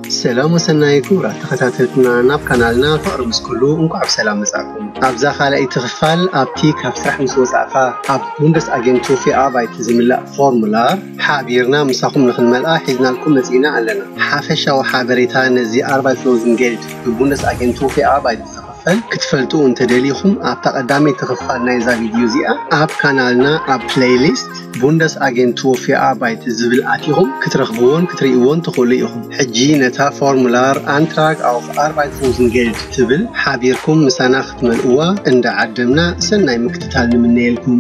ሰላም ወሰናይ ክቡራት ተኸታተልትና ናብ ካናልና ፍቕሪ ምስ ኩሉ እንኳዕ ብሰላም መጻእኩም። ኣብዛ ካልኣይቲ ክፋል ኣብቲ ካብ ስራሕ ምስ ወጻእካ ኣብ ቡንደስ ኣጌንቱ ፊ ኣርባይት ዝምላእ ፎርሙላር ሓቢርና ምሳኹም ንኽንመልኣ ሒዝናልኩም መጺእና ኣለና። ሓፈሻዊ ሓበሬታ ነዚ ኣርባይት ሎዝን ጌልድ ብቡንደስ ኣጌንቱ ፊ ኣርባይት ዝኽፈል ክትፈልጡ እንተደሊኹም ኣብታ ቀዳመይቲ ክፋል ናይዛ ቪድዮ እዚኣ ኣብ ካናልና ኣብ ፕሌይሊስት ቡንደስ ኣጌንቱ ፊ ኣርባይት ዝብል ኣቲኹም ክትረኽብዎን ክትርእይዎን ትኽእሉ ኢኹም። ሕጂ ነታ ፎርሙላር ኣንትራግ ኣውፍ ኣርባይት ሎዝን ጌልድ ትብል ሓቢርኩም ምሳና ክትመልእዋ እንዳዓደምና ሰናይ ምክትታል ንምነየልኩም።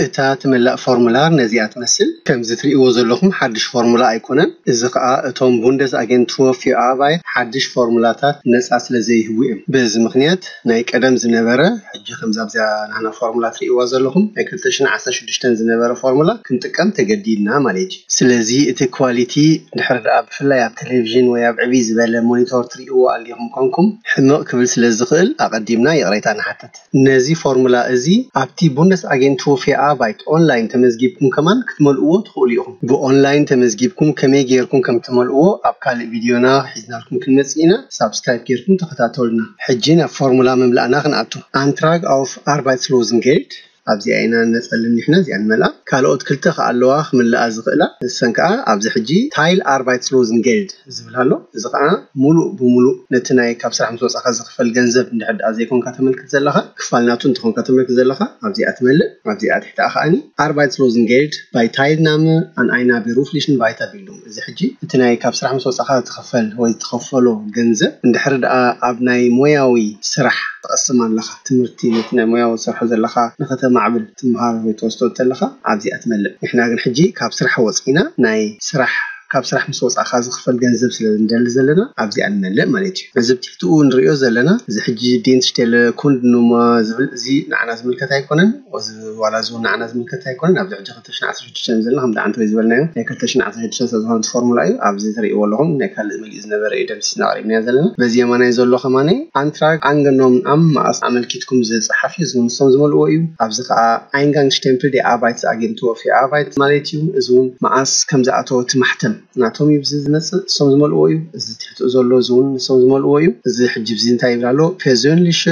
እታ ትምላእ ፎርሙላር ነዚኣ ትመስል። ከምዚ ትርእይዎ ዘለኹም ሓድሽ ፎርሙላ ኣይኮነን። እዚ ኸኣ እቶም ቡንደስ ኣጌንቱር ፊ ኣርባይት ሓድሽ ፎርሙላታት ነጻ ስለ ዘይህቡ እዮም። በዚ ምኽንያት ናይ ቀደም ዝነበረ፣ ሕጂ ከምዛ ኣብዚኣ ናህና ፎርሙላ ትርእይዋ ዘለኹም ናይ ክልተ ሽሕን ዓሰርተ ሽዱሽተን ዝነበረ ፎርሙላ ክንጥቀም ተገዲድና ማለት እዩ። ስለዚ እቲ ኳሊቲ ድሕሪ ደኣ ብፍላይ ኣብ ቴሌቪዥን ወይ ኣብ ዕብይ ዝበለ ሞኒቶር ትርእይዎ ኣሊኹም ኮንኩም ሕምቕ ክብል ስለ ዝኽእል ኣቐዲምና ይቕሬታ ንሓትት። ነዚ ፎርሙላ እዚ ኣብቲ ቡንደስ ኣጌንቱር ፊ ኣርባይት ኦንላይን ተመዝጊብኩም ከማን ክትመልእዎ ትኽእሉ ኢኹም። ብኦንላይን ተመዝጊብኩም ከመይ ጌርኩም ከም ትመልእዎ ኣብ ካልእ ቪድዮና ሒዝናልኩም ክንመጽእ ኢና። ሳብስክራይብ ጌርኩም ተኸታተሉና። ሕጂ ናብ ፎርሙላ ምምላእና ክንኣቱ። ኣንትራግ ኣውፍ ኣርባይት ሎዝን ጌልድ ኣብዚኣ ኢና ነጸልን ንሕና እዚኣ ንመልኣ። ካልኦት ክልተ ከኣ ኣለዋ ክምልኣ ዝኽእላ። ንሰን ከኣ ኣብዚ ሕጂ ታይል ኣርባይት ሎዝን ጌልድ ዝብል ኣሎ። እዚ ከኣ ሙሉእ ብሙሉእ ነቲ ናይ ካብ ስራሕ ምስ ወጻኻ ዝኽፈል ገንዘብ እንድሕር ደኣ ዘይኮንካ ተመልክት ዘለኻ፣ ክፋል ናቱ እንተኾንካ ተመልክት ዘለኻ፣ ኣብዚኣ ትመልእ። ኣብዚኣ ትሕቲ ከኣኒ ኣርባይት ሎዝን ጌልድ ባይ ታይል ናመ ኣን ኣይና ቤሩፍሊሽን ቫይታ ቢልዱንግ። እዚ ሕጂ እቲ ናይ ካብ ስራሕ ምስ ወጻኻ ዝኽፈል ወይ ዝትኸፈሎ ገንዘብ እንድሕር ደኣ ኣብ ናይ ሞያዊ ስራሕ ትቐስም ኣለኻ፣ ትምህርቲ ነቲ ናይ ሞያዊ ትሰርሖ ዘለኻ ንኸተማዕብል ትምሃር ወይ ትወስዶ እንተለኻ ኣብዚኣ ትመልእ። ንሕና ግን ሕጂ ካብ ስራሕ ወጺና ናይ ስራሕ ካብ ስራሕ ምስ ወጻእካ ዝኽፈል ገንዘብ ስለ ንደሊ ዘለና ኣብዚኣ ንመልእ ማለት እዩ። እዚ ብትሕትኡ ንሪኦ ዘለና እዚ ሕጂ ዲንስቴለ ኩንድ ኑማ ዝብል እዚ ንዓና ዝምልከት ኣይኮነን። እዚ ዋላ እዚ እውን ንዓና ዝምልከት ኣይኮነን። ኣብዚ ሕጂ ክልተ ሽሕን ዓሰርተ ሽዱሽተን ዘለና ከምዚ ዓንተወይ ዝበልናዮ ናይ ክልተ ሽሕን ዓሰርተ ሽዱሽተን ስለ ዝኾነ እቲ ፎርሙላ እዩ። ኣብዚ ትርእይዎ ኣለኹም ናይ ካልእ መሊኡ ዝነበረ እዩ ደምሲስና ኣቕሪብናዮ ዘለና። በዚ የማናይ ዘሎ ከማነይ ኣንትራግ ኣንገኖም ኣም መኣስ ኣመልኪትኩም ዝጸሓፍ እዩ። እዚ ንሶም ዝመልእዎ እዩ። ኣብዚ ከኣ ኣይንጋንግ ሽቴምፕል ዲ ኣርባይት ኣጌንቱር ፊ ኣርባይት ማለት እዩ። እዚ እውን መኣስ ከም ዝኣተወ እቲ ማሕተም ናቶም እዩ ብዚ ዝመጽእ፣ ንሶም ዝመልእዎ እዩ። እዚ ትሕትኡ ዘሎ እዚ እውን ንሶም ዝመልእዎ እዩ። እዚ ሕጂ ብዚ እንታይ ይብል ኣሎ? ፔርዞንሊሸ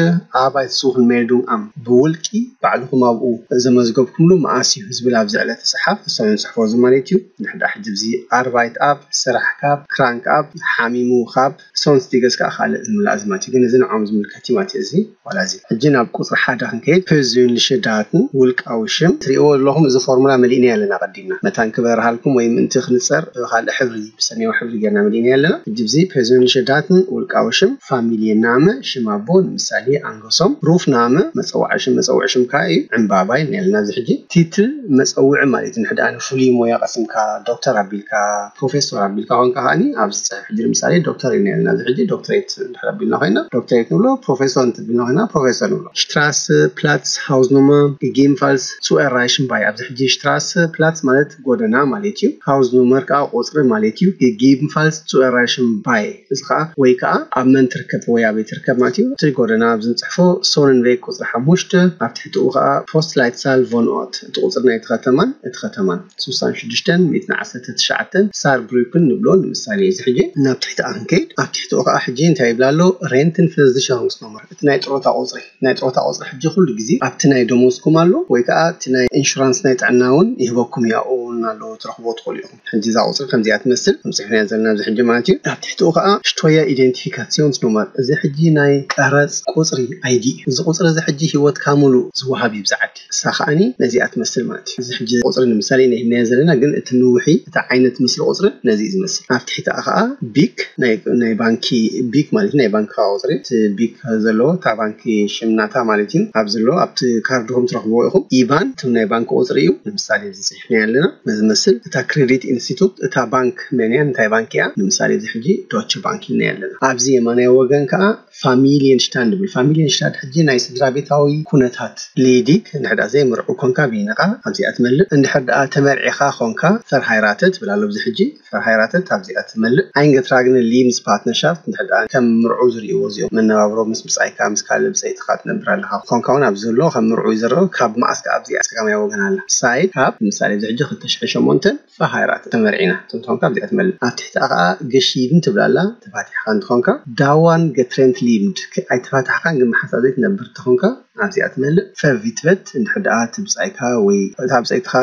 ኣርባይት ሱኽን ሜልዱንግ ኣም፣ ብውልቂ ባዕልኹም ኣብኡ ዘመዝገብኩምሉ መኣስ እዩ ዝብል ኣብዚ ዕለት ዝጽሓፍ፣ ንሶም እዮም ዝጽሕፍዎ እዚ ማለት እዩ። ንሕዳ ሕጂ ብዚ ኣርባይት ኣብ፣ ስራሕ ካብ፣ ክራንክ ኣብ፣ ሓሚሙ ካብ፣ ሶንስ ዲገስ ከኣ ካልእ ዝምላእ እዚ ማለት እዩ። ግን እዚ ንዖም ዝምልከት እዩ ማለት እዩ። እዚ ዋላ እዚ ሕጂ ናብ ቁጽሪ ሓደ ክንከይድ፣ ፔርዞንሊሸ ዳትን ውልቃዊ ሽም ትርእይዎ ኣለኹም። እዚ ፎርሙላ መሊእና ኣለና ቀዲምና መታን ክበርሃልኩም ወይ ምእንቲ ክንጸር ብኻልእ ሕብሪ ብሰማያዊ ሕብሪ ጌርና መሊእና ኣለና። ሕጂ እዚ ፔርዞንሊሸ ዳትን ውልቃዊ ሽም፣ ፋሚልየ ናመ፣ ሽም ኣቦ ንምሳሌ ኣንገሶም፣ ሩፍ ናመ መጸዋዒ ሽም፣ መጸውዒ ሽም ከኣ እዩ ዕምባባ ኢልና ኣለና። እዚ ሕጂ ቲትል መጸውዒ ማለት እዩ። ንሕዳ ፍሉይ ሞያ ቀሲምካ ዶክተር ኣቢልካ ፕሮፌሰር ኣቢልካ ኮንካ ከኣኒ ኣብዚ ጽሑፍ ሕጂ ንምሳሌ ዶክተር ኢልና ኣለና። እዚ ሕጂ ዶክትሬት እንድሕር ኣቢልና ኮይና ዶክትሬት ንብሎ፣ ፕሮፌሰር እንትብልና ኮይና ፕሮፌሰር ንብሎ። ሽትራሰ ፕላትስ ሃውስ ኑመር ጌጌንፋልስ ሱ ኤራይሽን ባይ። ኣብዚ ሕጂ ሽትራሰ ፕላትስ ማለት ጎደና ማለት እዩ። ሃውስ ኑመር ከኣ ቁጽሪ ማለት እዩ። ጌጌንፋልስ ሱ ኤራይሽን ባይ እዚ ከኣ ወይ ከኣ ኣብ መን ትርከብ ወይ ኣበይ ትርከብ ማለት እዩ። እቲ ጎደና ኣብዚ ንጽሕፎ ሶነንቬግ ቁጽሪ ሓሙሽተ፣ ኣብ ትሕቲኡ ከኣ ፖስት ላይትሳል ቮን ኦት፣ እቲ ቁጽሪ ናይቲ ከተማን እቲ ከተማን። ሱሳን ሽዱሽተን ሚእትን ዓሰርተ ትሽዓተን ሳርብሩክን ንብሎ ንምሳሌ። እዚ ሕጂ ናብ ትሕቲ ክንከይድ ኣብ ትሕቲኡ ከኣ ሕጂ እንታይ ይብል ኣሎ? ሬንትን ፈዝድሸንግስ ኖመር፣ እቲ ናይ ጥሮታ ቁጽሪ። ናይ ጥሮታ ቁጽሪ ሕጂ ኩሉ ግዜ ኣብቲ ናይ ደሞዝኩም ኣሎ ወይ ከኣ እቲ ናይ ኢንሹራንስ ናይ ጥዕና እውን ይህበኩም እዩ። ኣብኡ እውን ኣሎ ትረኽብዎ ትኽእሉ ኢኹም። ሕጂ እዛ ቁጽሪ ከምዚኣ ትመስል ከም ጽሕፍናያ ዘለና ኣብዚ ሕጂ ማለት እዩ። ኣብ ትሕቲኡ ከኣ ሽቶያ ኢደንቲፊካሲዮንስ ኖመር፣ እዚ ሕጂ ናይ ቀረጽ ቁጽሪ ኣይዲ እዩ። እዚ ቁጽሪ እዚ ሕጂ ህይወትካ ሙሉእ ዝወሃብ እዩ ብዚ ዓዲ። እሳ ከኣኒ ነዚኣ ትመስል ማለት እዩ። እዚ ሕጂ ቁጽሪ ንምሳሌ ኢና ሂብናዮ ዘለና፣ ግን እቲ ንውሒ፣ እቲ ዓይነት ምስሊ ቁጽሪ ነዚ እዩ ዝመስል። ኣብ ትሕቲኣ ከኣ ቢክ፣ ናይ፣ ናይ ባንኪ ቢክ ማለት እዩ፣ ናይ ባንኪ ቁጽሪ፣ እቲ ቢክ ዘለዎ፣ እታ ባንኪ ሽም ናታ ማለት እዩ። ኣብዚ ኣሎ፣ ኣብቲ ካርድኹም ትረኽብዎ ኢኹም። ኢባን፣ እቶም ናይ ባንኪ ቁጽሪ እዩ። ንምሳሌ፣ እዚ ጽሒፍናዮ ኣለና። ነዚ ዝመስል፣ እታ ክሬዲት ኢንስቲቱት፣ እታ ባንክ መን እያ፣ እንታይ ባንክ እያ? ንምሳሌ እዚ ሕጂ ዶች ባንክ ኢልና ኣለና። ኣብዚ የማናይ ወገን ከዓ ፋሚሊየን ሽታንድ ይብል። ፋሚሊየን ሽታንድ ሕጂ ናይ ስድራ ቤታዊ ኩነታት ሌዲግ እንድሕር ደኣ ዘይምርዑ ኮንካ ቢንኻ ኣብዚኣ ትመልእ። እንድሕር ደኣ ተመርዒኻ ኮንካ ፈርሃይራተት ትብል ኣሎ። ኣብዚ ሕጂ ፈርሃይራተት ኣብዚኣ ትመልእ። ኣይንገትራግነ ሊምስ ፓርትነርሻፍት እንድሕር ደኣ ከም ምርዑ ዝርእይዎ እዚኦም መነባብሮ ምስ ብጻይካ ምስ ካልእ ብጸይትኻ ትነብር ኣለኻ ኮንካ እውን ኣብዚ ዘሎ ከም ምርዑ ይዝረው። ካብ መዓስ ከኣ ኣብዚኣ ጸጋማይ ወገን ኣላ ሳይድ ካብ ምሳሌ ኣብዚ ሕጂ ክልተ ሽሕን ሸሞንተን ፈሃይራት ተመርዒና ትንትኾንካ ኣብዚኣ ትመልእ። ኣብ ትሕቲኣ ከዓ ገሺድን ትብላላ ተፋቲሕካ እንትኾንካ ዳዋን ገትሬንት ሊምድ ኣይተፋታሕካን ግን መሓሳብ ዘይትነብር ትኾንካ ኣብዚኣ ትመልእ። ፈቪትበት እንድሕር ደኣ ትብጻይካ ወይ እታ ብጻይትኻ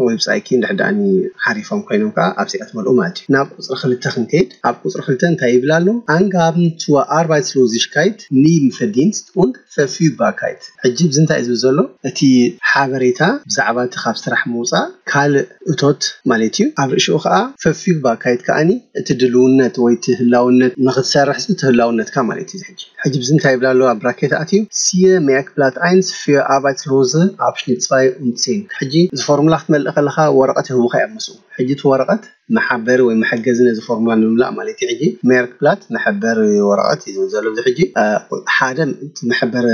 ወይ ብጻይኪ እንድሕር ደኣ ሓሪፎም ኮይኖም ከዓ ኣብዚኣ ትመልኡ ማለት እዩ። ናብ ቁፅሪ ክልተ ክንከይድ ኣብ ቁፅሪ ክልተ እንታይ ይብል ኣሎ? ኣንጋብን ቱ ኣርባይትስሎዚሽካይት ኒም ፈዲንስት und ፈፊባካይት። ሕጂ ብዚ እንታይ እዩ ዝብል ዘሎ? እቲ ሓበሬታ ብዛዕባ እቲ ካብ ስራሕ ምውፃእ ካልእ እቶት ማለት እዩ። ኣብ ርእሽኡ ከዓ ፈፊባካይት ከዓኒ እቲ ድልውነት ወይ እቲ ህላውነት ንክትሰርሕ እቲ ህላውነትካ ማለት እዩ። ሕጂ ሕጂ ብዚ እንታይ ይብል ኣሎ? ኣብ ብራኬት ኣትዩ ሲየ ሜርክብላት ኣይንስ ፊር ኣርባይትስሎዘ ኣብሽኒት ጽባይ ኡንት ዜን። ሕጂ እዚ ፎርሙላ ክትመልእ ከለካ ወረቀት ይህቡካ እዮም ምስኡ። ሕጂ እቲ ወረቀት መሓበሪ ወይ መሐገዚ ነዚ ፎርሙላ ንምምላእ ማለት እዩ። ሕጂ ሜርክብላት መሐበሪ ወረቐት እዩ ዝብል ዘሎ። እዚ ሕጂ ሓደ መሐበሪ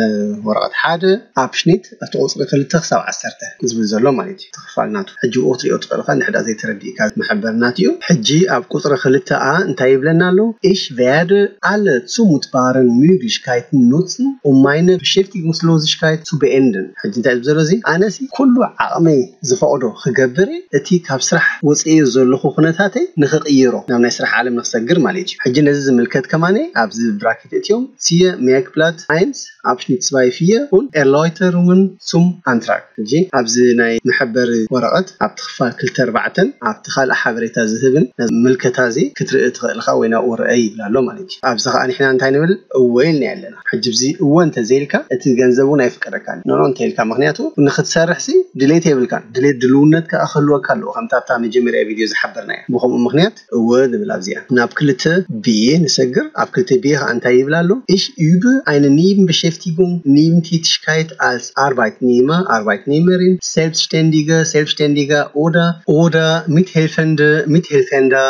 ወረቐት ሓደ ኣብሽኒት እቲ ቁፅሪ ክልተ ክሳብ ዓሰርተ ዝብል ዘሎ ማለት እዩ። ክፋል ናቱ ሕጂ ብኡ ክትሪኦ ትኽእል ኢኻ። እንድሕር ዘይተረዲእካ መሐበሪ ናቱ እዩ። ሕጂ ኣብ ቁፅሪ ክልተ ኣ እንታይ ይብለና ኣሎ? Ich werde alle zumutbaren Möglichkeiten nutzen, um meine Beschäftigungslosigkeit zu beenden። ሕጂ እንታይ ዝብል ዘሎ እዚ? ኣነሲ ኩሉ ዓቕመይ ዝፈቕዶ ክገብር እቲ ካብ ስራሕ ወፅኤ ዘለኹ ኩነታተይ ንክቕይሮ ናብ ናይ ስራሕ ዓለም ንክሰግር ማለት እዩ። ሕጂ ነዚ ዝምልከት ከማነ ኣብዚ ብራኬት እትዮም ሲየ ሜርክብላት ኣይንስ ኣብሽኒት ጽባይ ፊየ ኡን ኤርላይተሩንግን ሱም ኣንትራግ። ሕጂ ኣብዚ ናይ መሐበሪ ወረቐት ኣብቲ ክፋል ክልተ ኣርባዕተን ኣብቲ ካልእ ሓበሬታ ዝህብን ምልከታ እዚ ክትርኢ ትኽእል ኢኻ ወይ ናብኡ ርአ ይብል ኣሎ ማለት እዩ። ኣብዚ ከዓ ንሕና እንታይ ንብል? እወ ኢልና ኣለና። ሕጂ ብዚ እወ እንተዘይልካ እቲ ገንዘብ እውን ኣይፍቀደካን ኖኖ እንተኢልካ፣ ምክንያቱ ንክትሰርሕ ሲ ድሌት የብልካን። ድሌት ድልውነት ከዓ ክህልወካ ኣለዎ፣ ከምታ ኣብታ መጀመርያ ቪድዮ ዝሓበርናዮ። ብከምኡ ምክንያት እወ ንብል ኣብዚኣ። ናብ ክልተ ቢ ንሰግር። ኣብ ክልተ ቢ ከዓ እንታይ ይብል ኣሎ? Ich übe eine Nebenbeschäftigung, Nebentätigkeit als Arbeitnehmer, Arbeitnehmerin, Selbstständige, Selbstständiger oder, oder Mithelfende, Mithelfender,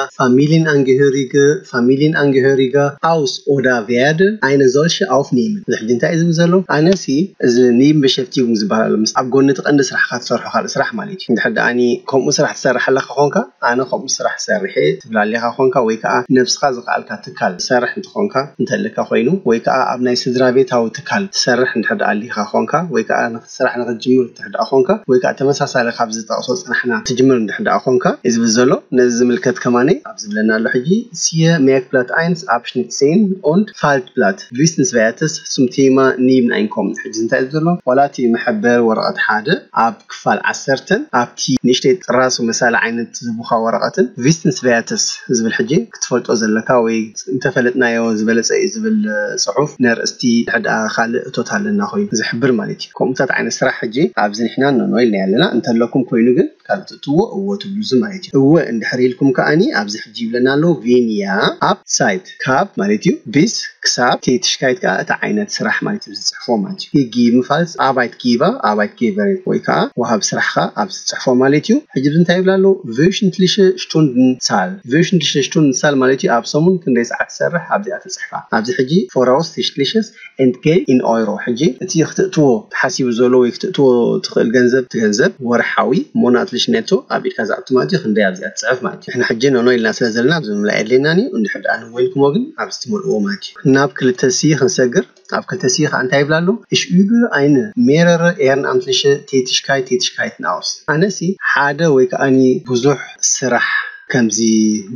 Familienangehörige, Familienangehöriger aus oder werde eine solche aufnehmen። እዚ ሕጂ እንታይ እዩ ዝብል ዘሎ? ኣነሲ እዚ ኒም ብሸፍቲጉም ዝበሃል ኣሎ። ምስ ኣብ ጎኒ እቲ ቀንዲ ስራሕካ ትሰርሖ ካልእ ስራሕ ማለት እዩ። እንድሕር ደኣኒ ከምኡ ስራሕ ትሰርሕ ኣለካ ኮንካ፣ ኣነ ከምኡ ስራሕ ሰርሐ ትብል ኣሊኻ ኮንካ፣ ወይ ከዓ ነብስኻ ዝኸኣልካ ትካል ትሰርሕ እንትኾንካ እንተልካ ኮይኑ፣ ወይ ከዓ ኣብ ናይ ስድራ ቤታዊ ትካል ትሰርሕ እንድሕር ደኣ ኣሊኻ ኮንካ፣ ወይ ከዓ ስራሕ ንክትጅምር እንድሕር ደኣ ኮንካ፣ ወይ ከዓ ተመሳሳሊ ካብዚ ዝጠቕሶ ዝፀናሕና ትጅምር እንድሕር ደኣ ኮንካ እዩ ዝብል ዘሎ። ነዚ ዝምልከት ከማኒ ኣብ ዝብለና ኣሎ ሕጂ፣ ሲየ ሜርክብላት ኣይንስ ኣብሽኒት ዜን ኡንድ ፋልትብላት ቪስንስቨርትስ ሱም ቴማ ኒብን ኣይንኮምን። ሕጂ እንታይ እዩ ዘሎ? ዋላ እቲ መሐበር ወረቐት ሓደ ኣብ ክፋል ዓሰርተን ኣብቲ ንእሽተይ ጥራሱ መሳሊ ዓይነት ዝቡኻ ወረቐትን ቪስንስቨርትስ ዝብል ሕጂ ክትፈልጦ ዘለካ ወይ እንተፈለጥናዮ ዝበለጸ እዩ ዝብል ጽሑፍ ነርእስቲ ሕድኣ ካልእ እቶት ኣለና ኮይኑ ዝሕብር ማለት እዩ። ከምኡታት ዓይነት ስራሕ ሕጂ ኣብዚ ንሕና ኖኖ ኢልና ኣለና። እንተለኩም ኮይኑ ግን ካልእ ትእትዎ እዎ ትብሉ እዚ ማለት እዩ። እወ እንድሕር ኢልኩም ከኣኒ ኣብዚ ሕጂ ይብለና ኣሎ ቬንያ ኣብ ሳይት ካብ ማለት እዩ ቢስ ክሳብ ቴትሽካይት ከዓ እቲ ዓይነት ስራሕ ማለት እዩ ዝፅሕፎ ማለት እዩ። ሂጊ ምፋልስ ኣባይት ጊባ ኣባይት ጌበሬ ወይ ከዓ ወሃብ ስራሕካ ኣብ ዝፅሕፎ ማለት እዩ። ሕጂ እዚ እንታይ ይብላ ኣለዉ? ቨሽንትሊሸ ሽቱንድን ዛል። ቨሽንትሊሸ ሽቱንድን ዛል ማለት እዩ ኣብ ሰሙን ክንደይ ሰዓት ትሰርሕ ኣብዚኣ ትፅሕፋ። ኣብዚ ሕጂ ፎራውስ ቲሽትሊሸስ ኤንትጌ ኢን ኦይሮ። ሕጂ እቲ ክትእትዎ ተሓሲቡ ዘሎ ወይ ክትእትዎ ትኽእል ገንዘብ እቲ ገንዘብ ወርሓዊ ሞናትሊሽ ኔቶ ኣብ ኢድካ ዝኣቱ ማለት እዩ። ክንደይ ኣብዚኣ ትፅሕፍ ማለት እዩ። ንሕና ሕጂ ኖኖ ኢልና ስለ ዘለና ኣብዚ ምምላእ የድልየናን እዩ። እንድሕር ደኣ ንወይልኩሞ ግን ኣብዚ ትመልእዎ ማለት እዩ። ናብ ክልተ ሲ ክንሰግር ኣብ ክልተ ሲ ከዓ እንታይ ይብላ ኣሎ? Ich übe eine mehrere ehrenamtliche Tätigkeit, Tätigkeiten aus። ኣነሲ ሓደ ወይ ከዓኒ ብዙሕ ስራሕ ከምዚ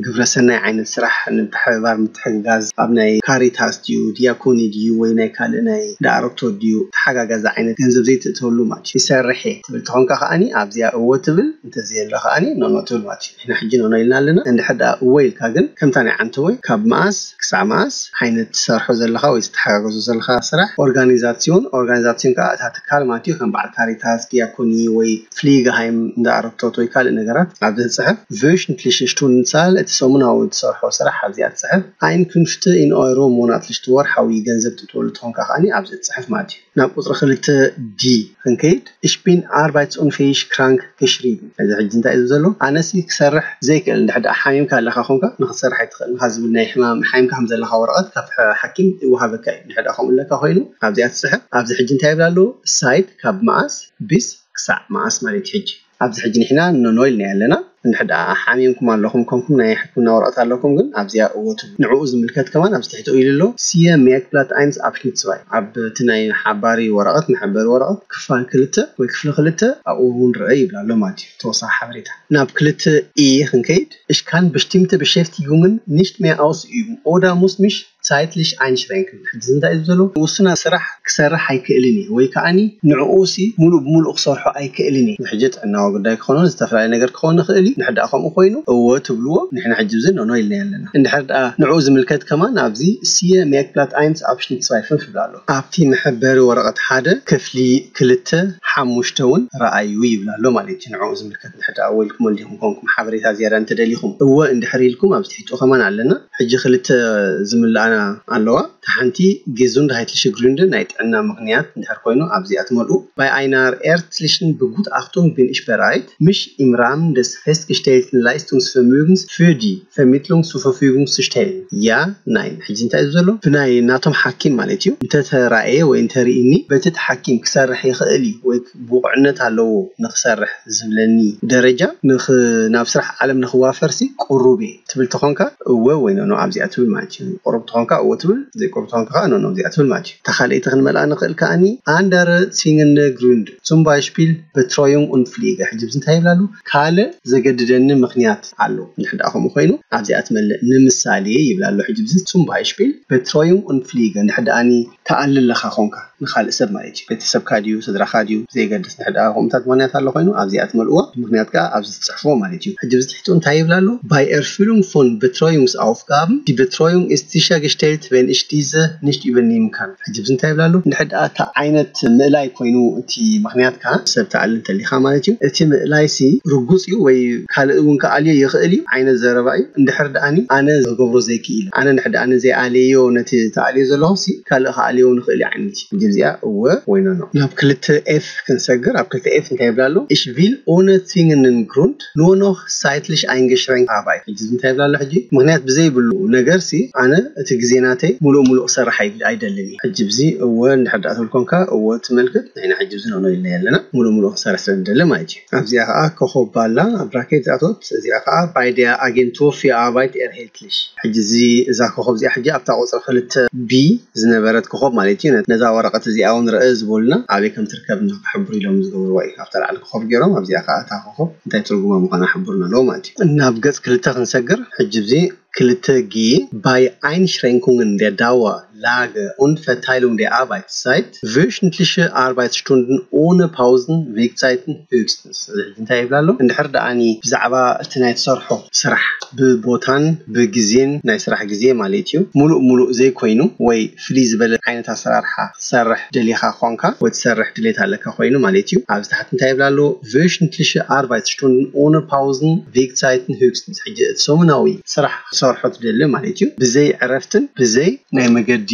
ግብረሰናይ ዓይነት ስራሕ ንምትሕብባር ምትሕግጋዝ ኣብ ናይ ካሪታስ ድዩ ዲያኮኒ ድዩ ወይ ናይ ካልእ ናይ ዳኣረክቶር ድዩ ተሓጋጋዚ ዓይነት ገንዘብ ዘይትእተወሉ ማለት እዩ። ይሰርሕ እየ ትብል ተኾንካ ከዓኒ ኣብዚኣ እወ ትብል፣ እንተዘየሎ ከዓኒ ኖኖ ትብል ማለት እዩ። ንሕና ሕጂ ኖኖ ኢልና ኣለና። እንድሕር ደኣ እወ ኢልካ ግን ከምታ ናይ ዓንተወይ ካብ መኣስ ክሳዕ መኣስ ዓይነት ትሰርሖ ዘለኻ ወይ ትተሓጋገዞ ዘለኻ ስራሕ ኦርጋኒዛሲዮን፣ ኦርጋኒዛሲዮን ከዓ እታ ትካል ማለት እዩ ከም በዓል ካሪታስ ዲያኮኒ ወይ ፍሊገሃይም እንዳ ኣረክቶት ወይ ካልእ ነገራት ኣብ ዘትፅሕፍ ቨሽንትሊሽ Stundenzahl፣ እቲ ሰሙናዊ ትሰርሖ ስራሕ ኣብዚኣ ትፅሕፍ። Einkünfte in Euro monatlich፣ ወርሓዊ ገንዘብ ትእትወሉ ትኾንካ ከዓኒ ኣብዚ ትፅሕፍ ማለት እዩ። ናብ ቁፅሪ ክልተ ዲ ክንከይድ፣ Ich bin arbeitsunfähig krank geschrieben። እዚ ሕጂ እንታይ እዩ ዘሎ? ኣነሲ ክሰርሕ ዘይክእል። እንድሕር ደኣ ሓሚምካ ኣለካ ኮንካ ንክትሰርሕ ኣይትኽእል ኢኻ ዝብል ናይ ሕማም ሓሚምካ ከም ዘለካ ወረቐት ካብ ሓኪም ይወሃበካ እዩ። እንድሕር ደኣ ከምኡ ኣለካ ኮይኑ ኣብዚኣ ትፅሕፍ። ኣብዚ ሕጂ እንታይ ይብል ኣሎ? Seit፣ ካብ መኣስ፣ bis፣ ክሳዕ መኣስ ማለት እዩ። ሕጂ ኣብዚ ሕጂ ንሕና ኖኖ ኢልና ኣለና። እንድሕር ደኣ ሓሚምኩም ኣለኹም ኮንኩም ናይ ሕክምና ወረቐት ኣለኩም ግን ኣብዚኣ እወቱ ንዕኡ ዝምልከት ከማን ኣብዚ ትሕቲ ኢሉ ኣሎ። Siehe Merkblatt eins Abschnitt zwei፣ ኣብ እቲ ናይ ሓባሪ ወረቐት፣ መሐበሪ ወረቐት ክፋል ክልተ ወይ ክፍሊ ክልተ ኣብኡ እውን ርአ ይብል ኣሎ ማለት እዩ። ተወሳኺ ሓበሬታ ናብ ክልተ ኢ ክንከይድ፣ Ich kann bestimmte Beschäftigungen nicht mehr ausüben oder muss mich zeitlich einschränken። ሕጂ እንታይ እዩ ዘሎ? ውሱና ስራሕ ክሰርሕ ኣይክእልን እዩ ወይ ከዓኒ ንዕኡ ሲ ሙሉእ ብሙሉእ ክሰርሖ ኣይክእልን እዩ። ሕጂ ጥዕናዊ ጉዳይ ክኾኑ ዝተፈላለዩ ነገር ክኾን ይኽእል እዩ። ንሕዳ ከምኡ ኮይኑ እወ ትብልዎ፣ ንሕና ሕጂ ብዚ ኖኖ ኢልና ኣለና። እንድሕር ደኣ ንዕኡ ዝምልከት ከማን ኣብዚ Siehe Merkblatt eins Abschnitt zwei fünf ይብል ኣሎ። ኣብቲ መሐበሪ ወረቐት ሓደ ክፍሊ ክልተ ሓሙሽተ እውን ረኣዩ ይብል ኣሎ ማለት እዩ። ንዕኡ ዝምልከት እንድሕር ደኣ ወይልኩም ወልዲኹም ኮንኩም ሓበሬታ ዝያዳ እንተደሊኹም እወ እንድሕር ኢልኩም ኣብዚ ትሕትኡ ከማን ኣለና። ሕጂ ክልተ ዝምልኣና ኣለዋ። እታ ሓንቲ Gesundheitliche Gründe፣ ናይ ጥዕና ምኽንያት እንድሕር ኮይኑ ኣብዚኣ ትመልኡ። Bei einer ärztlichen Begutachtung bin ich bereit, mich im Rahmen des festgestellten Leistungsvermögens für die Vermittlung zur Verfügung zu stellen. Ja, nein። ሕጂ እንታይ እዩ ዘሎ? ብናይ ናቶም ሓኪም ማለት እዩ እንተተራእየ ወይ እንተርኢኒ በቲ እቲ ሓኪም ክሰርሕ ይኽእል እዩ ወይ ብቑዕነት ኣለዎ ንክሰርሕ ዝብለኒ ደረጃ ንኽ- ናብ ስራሕ ዓለም ንክዋፈርሲ ቅሩብ እየ ትብል ተኾንካ እወ ወይ ኖኖ ኣብዚኣ ትብል ማለት እዩ። ቅሩብ ተኾንካ እወ ትብል፣ ዘይቅሩብ ተኾንካ ከዓ ኖኖ ኣብዚኣ ትብል ማለት እዩ። እታ ካልኣይቲ ክንመልኣ ንኽእል ከዓኒ Andere zwingende Gründe፣ zum Beispiel Betreuung und Pflege። ሕጂ ብዚ እንታይ ይብላሉ? ካልእ ዘገድደኒ ምኽንያት ኣሎ። እንድሕር ደኣ ከምኡ ኮይኑ ኣብዚኣ ትመልእ። ንምሳሌ ይብላ ኣሎ። ሕጂ ብዚ zum Beispiel Betreuung und Pflege እንድሕር ደኣኒ ተኣሊ ኣለኻ ኾንካ ንኻልእ ሰብ ማለት እዩ። ቤተሰብካ ድዩ፣ ስድራኻ ድዩ፣ ብዘየገድስ፣ እንድሕር ደኣ ከምኡታት ምኽንያት ኣሎ ኮይኑ ኣብዚኣ ትመልእዎ። ምኽንያት ከዓ ኣብዚ ትፅሕፍዎ ማለት እዩ። ሕጂ ብዚ ትሕቱ እንታይ ይብላ ኣሎ? Bei Erfüllung von Betreuungsaufgaben, die Betreuung ist sichergestellt, wenn ich diese nicht übernehmen kann። ሕጂ ብዚ እንታይ ይብላ ኣሎ? እንድሕር ደኣ እታ ዓይነት ምእላይ ኮይኑ እቲ ምኽንያት ከዓ ሰብ ተኣሊ እንተሊኻ ማለት እዩ። እቲ ምእላይ ሲ ርጉፅ እዩ ወይ ካልእ እውን ክኣልዮ ይኽእል እዩ ዓይነት ዘረባ እዩ። እንድሕር ደኣኒ ኣነ ክገብሮ ዘይክእል፣ ኣነ እንድሕር ደኣኒ ዘይኣልዮ ነቲ ተኣልዮ ዘለኹ ሲ ካልእ ክኣልዮ ንኽእል እዩ ዓይነት እዩ። ሕጂ እዚኣ እወ ወይ ኖኖ። ናብ ክልተ ኤፍ ክንሰግር፣ ኣብ ክልተ ኤፍ እንታይ ይብላ ኣሎ? Ich will ohne zwingenden Grund nur noch zeitlich eingeschränkt arbeiten። ሕጂ እዚ እንታይ ይብላ ኣሎ? ሕጂ ምኽንያት ብዘይብሉ ነገር ሲ ኣነ እቲ ግዜ ናተይ ሙሉእ ሙሉእ ክሰርሕ ኣይ- ኣይደልን እዩ። ሕጂ ብዚ እወ እንድሕር ደኣ ትብል ኮንካ እወ ትመልክት፣ ንሕና ሕጂ ብዚ ኖኖ ኢልና ኣለና። ሙሉእ ሙሉእ ክሰርሕ ስለ ንደሊ ማለት እዩ። ኣብዚኣ ከዓ ኮኾብ ባላ ኣብ ብራኬት ዝኣተወት፣ እዚኣ ከዓ Bei der Agentur für Arbeit erhältlich። ሕጂ እዚ እዛ ኮኾብ እዚኣ ሕጂ ኣብታ ቁፅሪ ክልተ ቢ ዝነበረት ኮኾብ ማለት እዩ። ነዛ ወረቐት እዚኣ እውን ርእ ዝበሉና ኣበይ ከም ትርከብ እንዶ ክሕብሩ ኢሎም ዝገበርዋ እዩ። ኣብታ ላዕሊ ኮኾብ ገይሮም ኣብዚኣ ከዓ እታ ኮኾብ እንታይ ትርጉማ ምዃና ሕብሩና ኣለዎ ማለት እዩ። ናብ ገፅ ክልተ ክንሰግር ሕጂ እዚ ክልተ ጊ Bei Einschränkungen der Dauer, Lage und Verteilung der Arbeitszeit, wöchentliche Arbeitsstunden ohne Pausen, Wegzeiten höchstens። እዚ ሕጂ እንታይ ይብላ ኣሎ? እንድሕር ደኣኒ ብዛዕባ እቲ ናይ ትሰርሖ ስራሕ ብቦታን ብግዜን፣ ናይ ስራሕ ግዜ ማለት እዩ፣ ሙሉእ ሙሉእ ዘይኮይኑ ወይ ፍልይ ዝበለ ዓይነት ኣሰራርሓ ክትሰርሕ ደሊኻ ኾንካ ወይ ትሰርሕ ድሌት ኣለካ ኮይኑ ማለት እዩ። ኣብዚ ታሕቲ እንታይ ይብላ ኣሎ? Wöchentliche Arbeitsstunden ohne Pausen, Wegzeiten höchstens። ሕጂ እቲ ሰሙናዊ ስራሕ ክትሰርሖ ትደሊ ማለት እዩ፣ ብዘይ ዕረፍትን ብዘይ ናይ መገዲ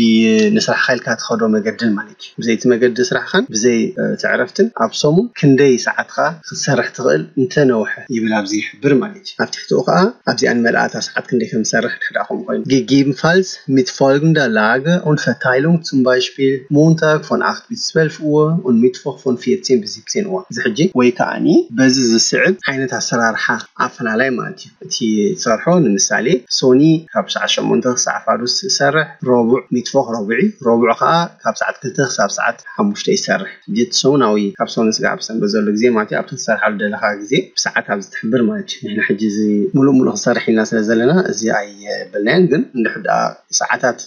ንስራሕካ ኢልካ ትኸዶ መገድን ማለት እዩ። ብዘይ እቲ መገዲ ስራሕኻን ብዘይ እቲ ዕረፍትን ኣብ ሰሙን ክንደይ ሰዓትካ ክትሰርሕ ትኽእል እንተነውሐ ይብል ኣብዚ ይሕብር ማለት እዩ። ኣብ ትሕቲኡ ከዓ ኣብዚኣ ንመልኣታ ሰዓት ክንደይ ከም ዝሰርሕ ድሕዳ ከምኡ ኮይኑ gegebenfalls mit folgender Lage und Verteilung, zum Beispiel Montag von acht bis zwölf Uhr und Mittwoch von vierzehn bis siebzehn Uhr። እዚ ሕጂ ወይ ከዓኒ በዚ ዝስዕብ ዓይነት ኣሰራርሓ ኣፈላላይ ማለት እዩ። እቲ ትሰርሖ ንምሳሌ ሶኒ ካብ ሰዓት ሸሞንተ ክሳዕ ፋዱስ ትሰርሕ፣ ረቡዕ ሚትፎኽ ረቡዒ፣ ረቡዕ ከዓ ካብ ሰዓት ክልተ ክሳብ ሰዓት ሓሙሽተ ይሰርሕ። ሕጂ እቲ ሰሙናዊ ካብ ሶኒ ስጋዕ ብሰንበት ዘሎ ግዜ ማለት እዩ። ኣብቲ ትሰርሓሉ ደለኻ ግዜ ብሰዓት ኣብዚ ትሕብር ማለት እዩ። ንሕና ሕጂ እዚ ሙሉእ ሙሉእ ክንሰርሕ ኢልና ስለ ዘለና እዚ ኣይበልናዮን፣ ግን እንድሕር ደኣ ሰዓታት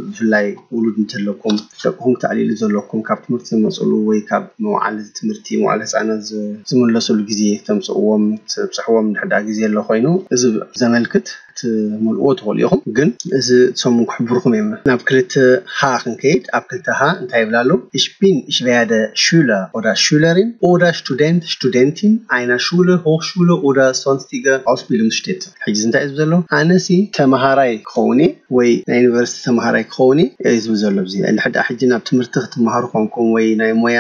ብፍላይ ውሉድ እንተለኩም፣ ደቅኹም ክተዕልሉ ዘለኩም፣ ካብ ትምህርቲ ዝመፅሉ ወይ ካብ መውዓሊ ትምህርቲ መዋዕለ ህፃናት ዝ- ዝምለስሉ ግዜ ክተምፅእዎም ትብፅሕዎም እንድሕር ደኣ ግዜ ኣሎ ኮይኑ እዚ ዘመልክት ክትምልእዎ ትኽእሉ ኢኹም። ግን እዚ ሰሙን ክሕብርኩም እዮም። ናብ ክልተ ክልተ ሃ ክንከይድ፣ ኣብ ክልተ ሃ እንታይ ይብላ ኣሎ? Ich bin, ich werde Schüler oder Schülerin oder Student, Studentin einer Schule, Hochschule oder sonstige Ausbildungsstätte። ሕጂ እንታይ እዩ ዝብል ዘሎ? ኣነሲ ተምሃራይ ክኸውን እየ ወይ ናይ ዩኒቨርሲቲ ተምሃራይ ክኸውን እየ እዩ ዝብል ዘሎ። እዚ እንድሕር ደኣ ሕጂ ናብ ትምህርቲ ክትመሃሩ ኮንኩም ወይ ናይ ሞያ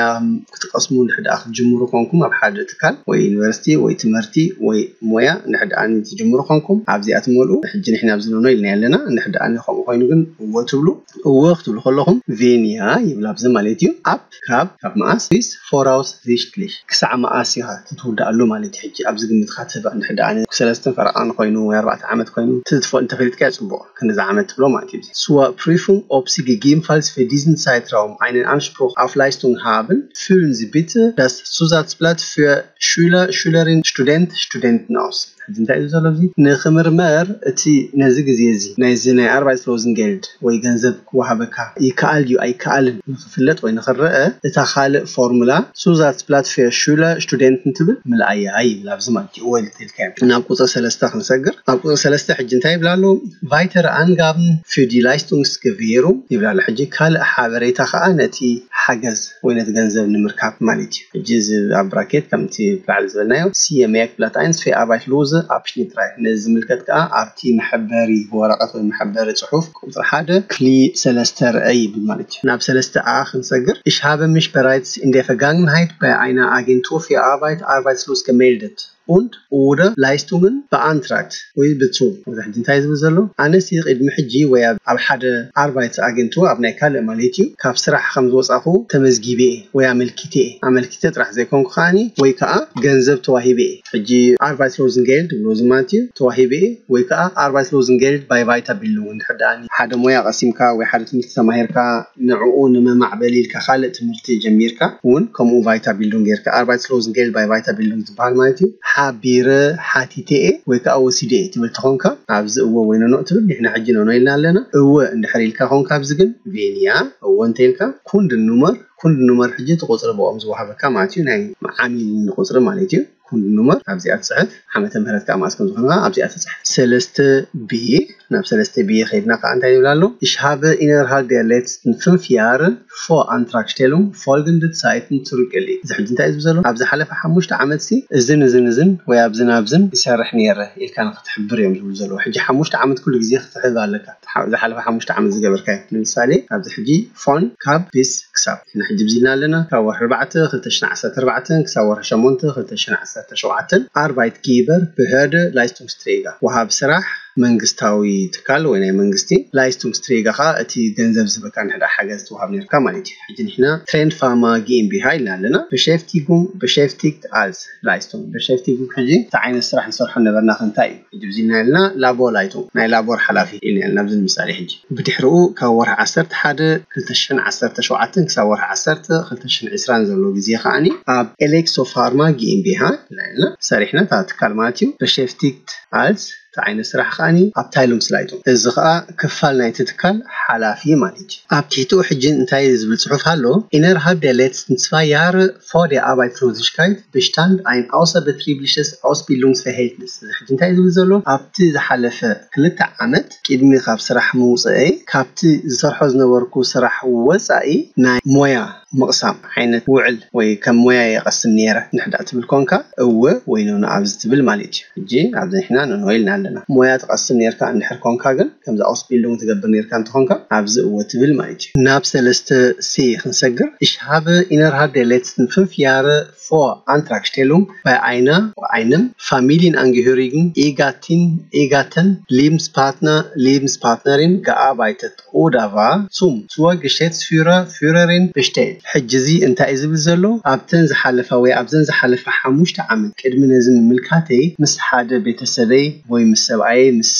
ክትቀስሙ እንድሕር ደኣ ክትጅምሩ ኮንኩም፣ ኣብ ሓደ ትካል ወይ ዩኒቨርሲቲ ወይ ትምህርቲ ወይ ሞያ እንድሕር ደኣ ትጅምሩ ኮንኩም፣ ኣብዚኣ ትመልኡ። ሕጂ ንሕና ኣብዚ ንኖ ኢልና ኣለና። እንድሕር ደኣ ከምኡ ኮይኑ ግን እዎ ትብሉ። እዎ ክትብሉ ከለኹም ቬንያ ይብል ኣብዚ ማለት እዩ። ኣብ ካብ ካብ መኣስ ቢስ ፎራውስ ዚሽትሊሽ፣ ክሳዕ መኣስ ኢኻ ክትውድኣሉ ማለት እዩ። ሕጂ ኣብዚ ግምትካ ትህባ እንድሕር ደኣ ሰለስተ ፈረቓ ኮይኑ ወይ ኣርባዕተ ዓመት ኮይኑ ትትፎ እንተፈሊጥካ ጽቡቕ። ክንዚ ዓመት ትብሎ ማለት እዩ። Zur Prüfung, ob Sie gegebenenfalls für diesen Zeitraum einen Anspruch auf Leistung haben, füllen Sie bitte das Zusatzblatt für Schüler, Schülerin, Student, Studenten aus. ሕጂ እንታይ እዩ ዘሎ? እዚ ንክምርመር እቲ ነዚ ግዜ እዚ ናይዚ ናይ ኣርባይት ሎዝንጌልድ ወይ ገንዘብ ክወሃበካ ይከኣል ድዩ ኣይከኣልን ንክፍለጥ ወይ ንክረአ፣ እታ ካልእ ፎርሙላ ሱዛትስብላት ፌር ሹለር ስቱደንት እንትብል ምልኣያ ይብል። ኣብዚ ማለት እዩ ወይ ልትልካ ናብ ቁፅሪ ሰለስተ ክንሰግር። ኣብ ቁፅሪ ሰለስተ ሕጂ እንታይ ይብላ ኣለዉ? Weitere Angaben für die Leistungsgewährung ይብላ ኣሎ። ሕጂ ካልእ ሓበሬታ ከዓ ነቲ ሓገዝ ወይ ነቲ ገንዘብ ንምርካብ ማለት እዩ። ሕጂ እዚ ኣብ ብራኬት ከምቲ ብላዕሊ ዝበልናዮ፣ ሲ የመያክ ብላት ኣይንስ ፌ ኣርባይት ሎዘ ኣብሽኒት ራይ፣ ነዚ ዝምልከት ከዓ ኣብቲ መሐበሪ ወረቐት ወይ መሐበሪ ፅሑፍ ቁፅሪ ሓደ ክሊ ሰለስተ ርአ ይብል ማለት እዩ። ናብ ሰለስተ ኣ ክንሰግር፣ Ich habe mich bereits in der Vergangenheit bei einer Agentur für Arbeit arbeitslos gemeldet und oder Leistungen beantragt ወይ ብጹም። እዚ ሕጂ እንታይ ዝብል ዘሎ? ኣነሲ ቅድሚ ሕጂ ወይ ኣብ ሓደ ኣርባይት ኣገንቱ ኣብ ናይ ካልእ ማለት እዩ ካብ ስራሕ ከም ዝወጻኹ ተመዝጊበ እየ ወይ ኣመልኪተ እየ። ኣመልኪተ ጥራሕ ዘይኮንኩ ከዓኒ ወይ ከዓ ገንዘብ ተዋሂበ እየ። ሕጂ ኣርባይት ሎዝንጌልድ ብሎ እዚ ማለት እዩ ተዋሂበ እየ ወይ ከዓ ኣርባይት ሎዝንጌልድ ባይ ቫይታ ቢልዱንግ እንድሕር ደኣ ሓደ ሞያ ቀሲምካ ወይ ሓደ ትምህርቲ ተማሂርካ ንዕኡ ንመማዕበሊ ኢልካ ካልእ ትምህርቲ ጀሚርካ እውን ከምኡ ቫይታ ቢልዱንግ ጌርካ ኣርባይት ሎዝንጌልድ ባይ ቫይታ ቢልዱንግ ዝበሃል ማለት እዩ። ሓቢረ ሓቲተ እየ ወይ ከዓ ወሲደ እየ ትብል ተኾንካ ኣብዚ እወ ወይ ኖኖ ትብል። ንሕና ሕጂ ኖኖ ኢልና ኣለና። እወ እንድሕር ኢልካ ኮንካ ኣብዚ ግን ቬንያ እወ እንተ ኢልካ ኩንድ ኑመር ኩንድ ኑመር ሕጂ እቲ ቁፅሪ ብኦም ዝወሃበካ ማለት እዩ ናይ ዓሚል ቁፅሪ ማለት እዩ። ኩንድ ኑመር ኣብዚኣ ትፅሕፍ። ዓመተ ምህረት ከዓ መኣስ ከም ዝኾንካ ኣብዚኣ ትፅሕፍ። ሰለስተ ቢ ናብ ሰለስተ ቢ ከይድና ከዓ እንታይ ይብል ኣሎ? Ich habe innerhalb der letzten fünf Jahre vor Antragstellung folgende Zeiten zurückgelegt። እዚ ሕጂ እንታይ እዩ ዝብል ዘሎ? ኣብ ዝሓለፈ ሓሙሽተ ዓመት ሲ እዝን እዝን እዝን ወይ ኣብዝን ኣብዝን ይሰርሕ ነይረ ኢልካ ንክትሕብር እዮም ዝብሉ ዘለዉ። ሕጂ ሓሙሽተ ዓመት ኩሉ ግዜ ክትሕብ ኣለካ። ዝሓለፈ ሓሙሽተ ዓመት ዝገበርካዮ ንምሳሌ ኣብዚ ሕጂ ፎን ካብ ቢስ ክሳብ ንሕጂ ብዚልና ኣለና ካብ ወርሒ ኣርባዕተ ክልተ ሽሕን ዓሰርተ ኣርባዕተን ክሳብ ወርሒ ሸሞንተ ክልተ ሽሕን ዓሰርተ ሸውዓተን ኣርባይት ጊበር ብህደ ላይስቱንግስትሬጋ ወሃብ ስራሕ መንግስታዊ ትካል ወይ ናይ መንግስቲ ላይስቱንግስትሬጋ ከዓ እቲ ገንዘብ ዝህበካ ንሕዳ ሓገዝ ትወሃብ ነርካ ማለት እዩ። ሕጂ ንሕና ትሬንድ ፋርማ ጊኤምቢሃ ኢልና ኣለና። በሸፍቲጉም በሸፍቲግት ኣልስ ላይስቱንግ በሸፍቲጉም ሕጂ እቲ ዓይነት ስራሕ ንሰርሖ ነበርና ክንታይ እዩ? ሕጂ ብዚልና ኢልና ላቦ ላይቱንግ ናይ ላቦር ሓላፊ ኢልና ኢልና ኣብዚ ንምሳሌ ሕጂ ብድሕሪኡ ካብ ወርሒ ዓሰርተ ሓደ ክልተ ሽሕን ዓሰርተ ሸውዓተን ክሳብ ወርሒ ዓሰርተ ክልተ ሽሕን ዕስራን ዘሎ ግዜ ከዓኒ ኣብ ኤሌክሶ ፋርማ ጊኤምቢሃ ኢልና ኢልና ሰሪሕና እታ ትካል ማለት እዩ። በሸፍቲግት ኣልስ እቲ ዓይነት ስራሕ ከዓኒ ኣብ ታይሉንግ ስላይቱ እዚ ከዓ ክፋል ናይቲ ትካል ሓላፊ ማለት እዩ። ኣብ ትሕቲኡ ሕጂ እንታይ ዝብል ፅሑፍ ኣሎ? Innerhalb der letzten zwei Jahre vor der Arbeitslosigkeit bestand ein außerbetriebliches Ausbildungsverhältnis። እዚ ሕጂ እንታይ ዝብል ዘሎ? ኣብቲ ዝሓለፈ ክልተ ዓመት ቅድሚ ካብ ስራሕ ምውፅአይ ካብቲ ዝሰርሖ ዝነበርኩ ስራሕ ወፃኢ ናይ ሞያ ምቕሳም ዓይነት ውዕል ወይ ከም ሞያ የቐስም ነይረ እንድሕር ደኣ ትብል ኮንካ እወ ወይ ኖኖ ኣብዚ ትብል ማለት እዩ። ሕጂ ኣብዚ ንሕና ኖኖ ኢልና ኣለና። ሞያ ትቐስም ነርካ እንድሕር ኮንካ ግን ከምዚ ኣውስቢልዱንግ ትገብር ነርካ እንተኾንካ ኣብዚ እወ ትብል ማለት እዩ። ናብ ሰለስተ ሲ ክንሰግር Ich habe innerhalb der letzten fünf Jahre vor Antragstellung bei einer, einem Familienangehörigen, Ehegattin, Ehegatten, Lebenspartner, Lebenspartnerin gearbeitet oder war zum, zur Geschäftsführer, Führerin bestellt። ሕጂ እዚ እንታይ እዩ ዝብል ዘሎ? ኣብተን ዝሓለፋ ወይ ኣብዘን ዝሓለፋ ሓሙሽተ ዓመት ቅድሚ ነዚ ምምልካተይ ምስ ሓደ ቤተሰበይ ወይ ምስ ሰብኣየይ፣ ምስ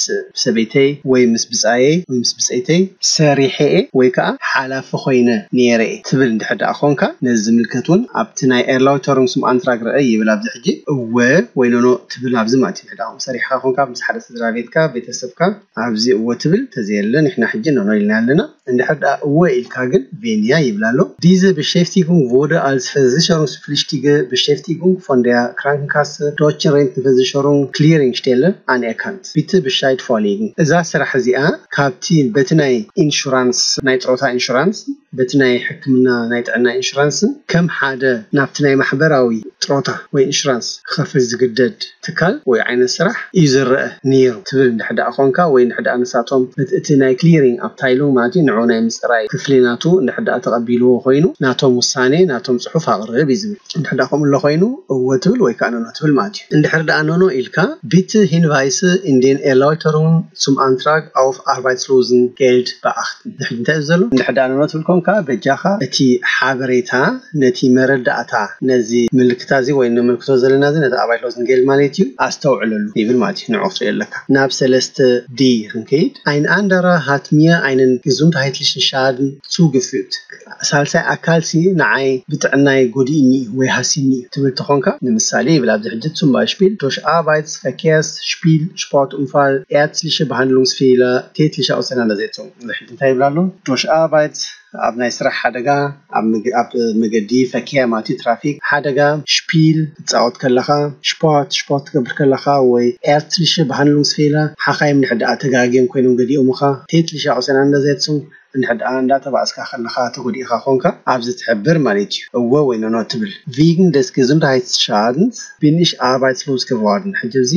ሰበይተይ ወይ ምስ ብፃየይ ወይ ምስ ብፀይተይ ሰሪሐ እየ ወይ ከዓ ሓላፊ ኮይነ ነይረ እየ ትብል እንድሕር ደኣ ኮንካ ነዚ ዝምልከት እውን ኣብቲ ናይ ኤርላውተሩም ስም ኣንትራግ ረአ ይብል። ኣብዚ ሕጂ እወ ወይ ኖኖ ትብል ኣብዚ ማለት እዩ። እንድሕር ደኣ ሰሪሕካ ኮንካ ምስ ሓደ ስድራ ቤትካ ቤተሰብካ ኣብዚ እወ ትብል ተዘየለ ንሕና ሕጂ ኖኖ ኢልና ኣለና። እንድሕር ደኣ እወ ኢልካ ግን ቬንያ ይብል ኣሎ። ዲዘ Beschäftigung wurde als versicherungspflichtige Beschäftigung von der Krankenkasse Deutsche Rentenversicherung Clearingstelle anerkannt. Bitte Bescheid vorlegen. እዛ ስራሕ እዚኣ ካብቲ በቲ ናይ ኢንሹራንስ፣ ናይ ጥሮታ ኢንሹራንስ፣ በቲ ናይ ሕክምና ናይ ጥዕና ኢንሹራንስን ከም ሓደ ናብቲ ናይ ማሕበራዊ ጥሮታ ወይ ኢንሹራንስ ክኸፍል ዝግደድ ትካል ወይ ዓይነት ስራሕ እዩ ዝረአ ነይሩ ትብል እንድሕር ደኣ ኮንካ፣ ወይ እንድሕር ደኣ ንሳቶም እቲ ናይ ክሊሪንግ ኣብታይሉንግ ማለት እዩ፣ ንዑ ናይ ምፅራይ ክፍሊ ናቱ እንድሕር ደኣ ተቐቢልዎ ኮይኑ፣ ናቶም ውሳኔ፣ ናቶም ፅሑፍ ኣቕርብ እዩ ዝብል። እንድሕር ደኣ ከምኡ ኣሎ ኮይኑ፣ እወ ትብል ወይ ከዓ ኖኖ ትብል ማለት እዩ። እንድሕር ደኣ ኖኖ ኢልካ፣ Bitte Hinweise in den Erläuterungen zum Antrag auf Arbeitslosengeld beachten. ሕጂ እንታይ እዩ ዘሎ? እንድሕር ደኣ ኖኖ ትብል ኮንካ፣ በጃኻ እቲ ሓበሬታ፣ ነቲ መረዳእታ፣ ነዚ ምልክታ እዚ ወይ ንምልክቶ ዘለና እዚ ነቲ ኣባይት ሎዝን ጌልድ ማለት እዩ፣ ኣስተውዕለሉ ይብል ማለት እዩ። ንዑ ክትሪኦ ኣለካ። ናብ ሰለስተ ዲ ክንከይድ። Ein anderer hat mir einen gesundheitlichen Schaden zugefügt. ሳልሳይ ኣካል ሲ ንዓይ ብጥዕናይ ጎዲእኒ እዩ ወይ ሃሲኒ እዩ ትብል ተኾንካ፣ ንምሳሌ ይብል ኣብዚ ሕጂ፣ zum Beispiel durch Arbeits-, Verkehrs-, Spiel-, Sportunfall, ärztliche Behandlungsfehler, tätliche Auseinandersetzung። እዚ ሕጂ እንታይ ይብል ኣሎ? Durch Arbeits-፣ ኣብ ናይ ስራሕ ሓደጋ፣ ኣብ መገዲ ፈኪያ ማለት እዩ፣ ትራፊክ ሓደጋ፣ ሽፒል ትፃወት ከለኻ፣ ስፖርት ስፖርት ትገብር ከለኻ፣ ወይ ärztliche Behandlungsfehler፣ ሓኻይም ንሕድኣ ተጋግዮም ኮይኖም ገዲኦምኻ፣ tätliche Auseinandersetzung፣ እንድሕር ደኣ እንዳተባእስካ ከለኻ ተጎዲእኻ ኮንካ፣ ኣብዚ ትሕብር ማለት እዩ። እወ ወይ ኖኖ ትብል። Wegen des Gesundheitsschadens bin ich arbeitslos geworden። ሕጂ እዚ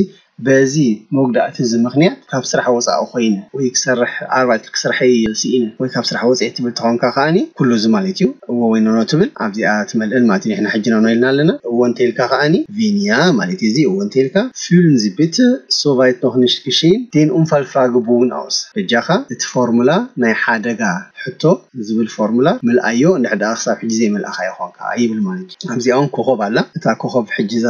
በዚ መጉዳእቲ እዚ ምኽንያት ካብ ስራሕ ወፃኢ ኮይነ ወይ ክሰርሕ ኣርባዕተ ክሰርሐ ስኢነ ወይ ካብ ስራሕ ወፅኤ ትብል ተኾንካ ከዓኒ ኩሉ እዚ ማለት እዩ። እዎ ወይ ኖኖ ትብል ኣብዚኣ ትመልእን ማለት እዩ። ንሕና ሕጂ ኖኖ ኢልና ኣለና። እዎ እንተኢልካ ከዓኒ ቬንያ ማለት እዩ። እዚ እዎ እንተኢልካ fühlen Sie bitte soweit noch nicht geschehen den Unfallfragebogen aus። በጃኻ እቲ ፎርሙላ ናይ ሓደጋ ሕቶ ዝብል ፎርሙላ ምልኣዮ። እንድሕር ደኣ ክሳብ ሕጂ ዘይመልኣኻ ይኾንካ ይብል ማለት እዩ። ኣብዚኣ እውን ኮኾብ ኣላ። እታ ኮኾብ ሕጂ እዛ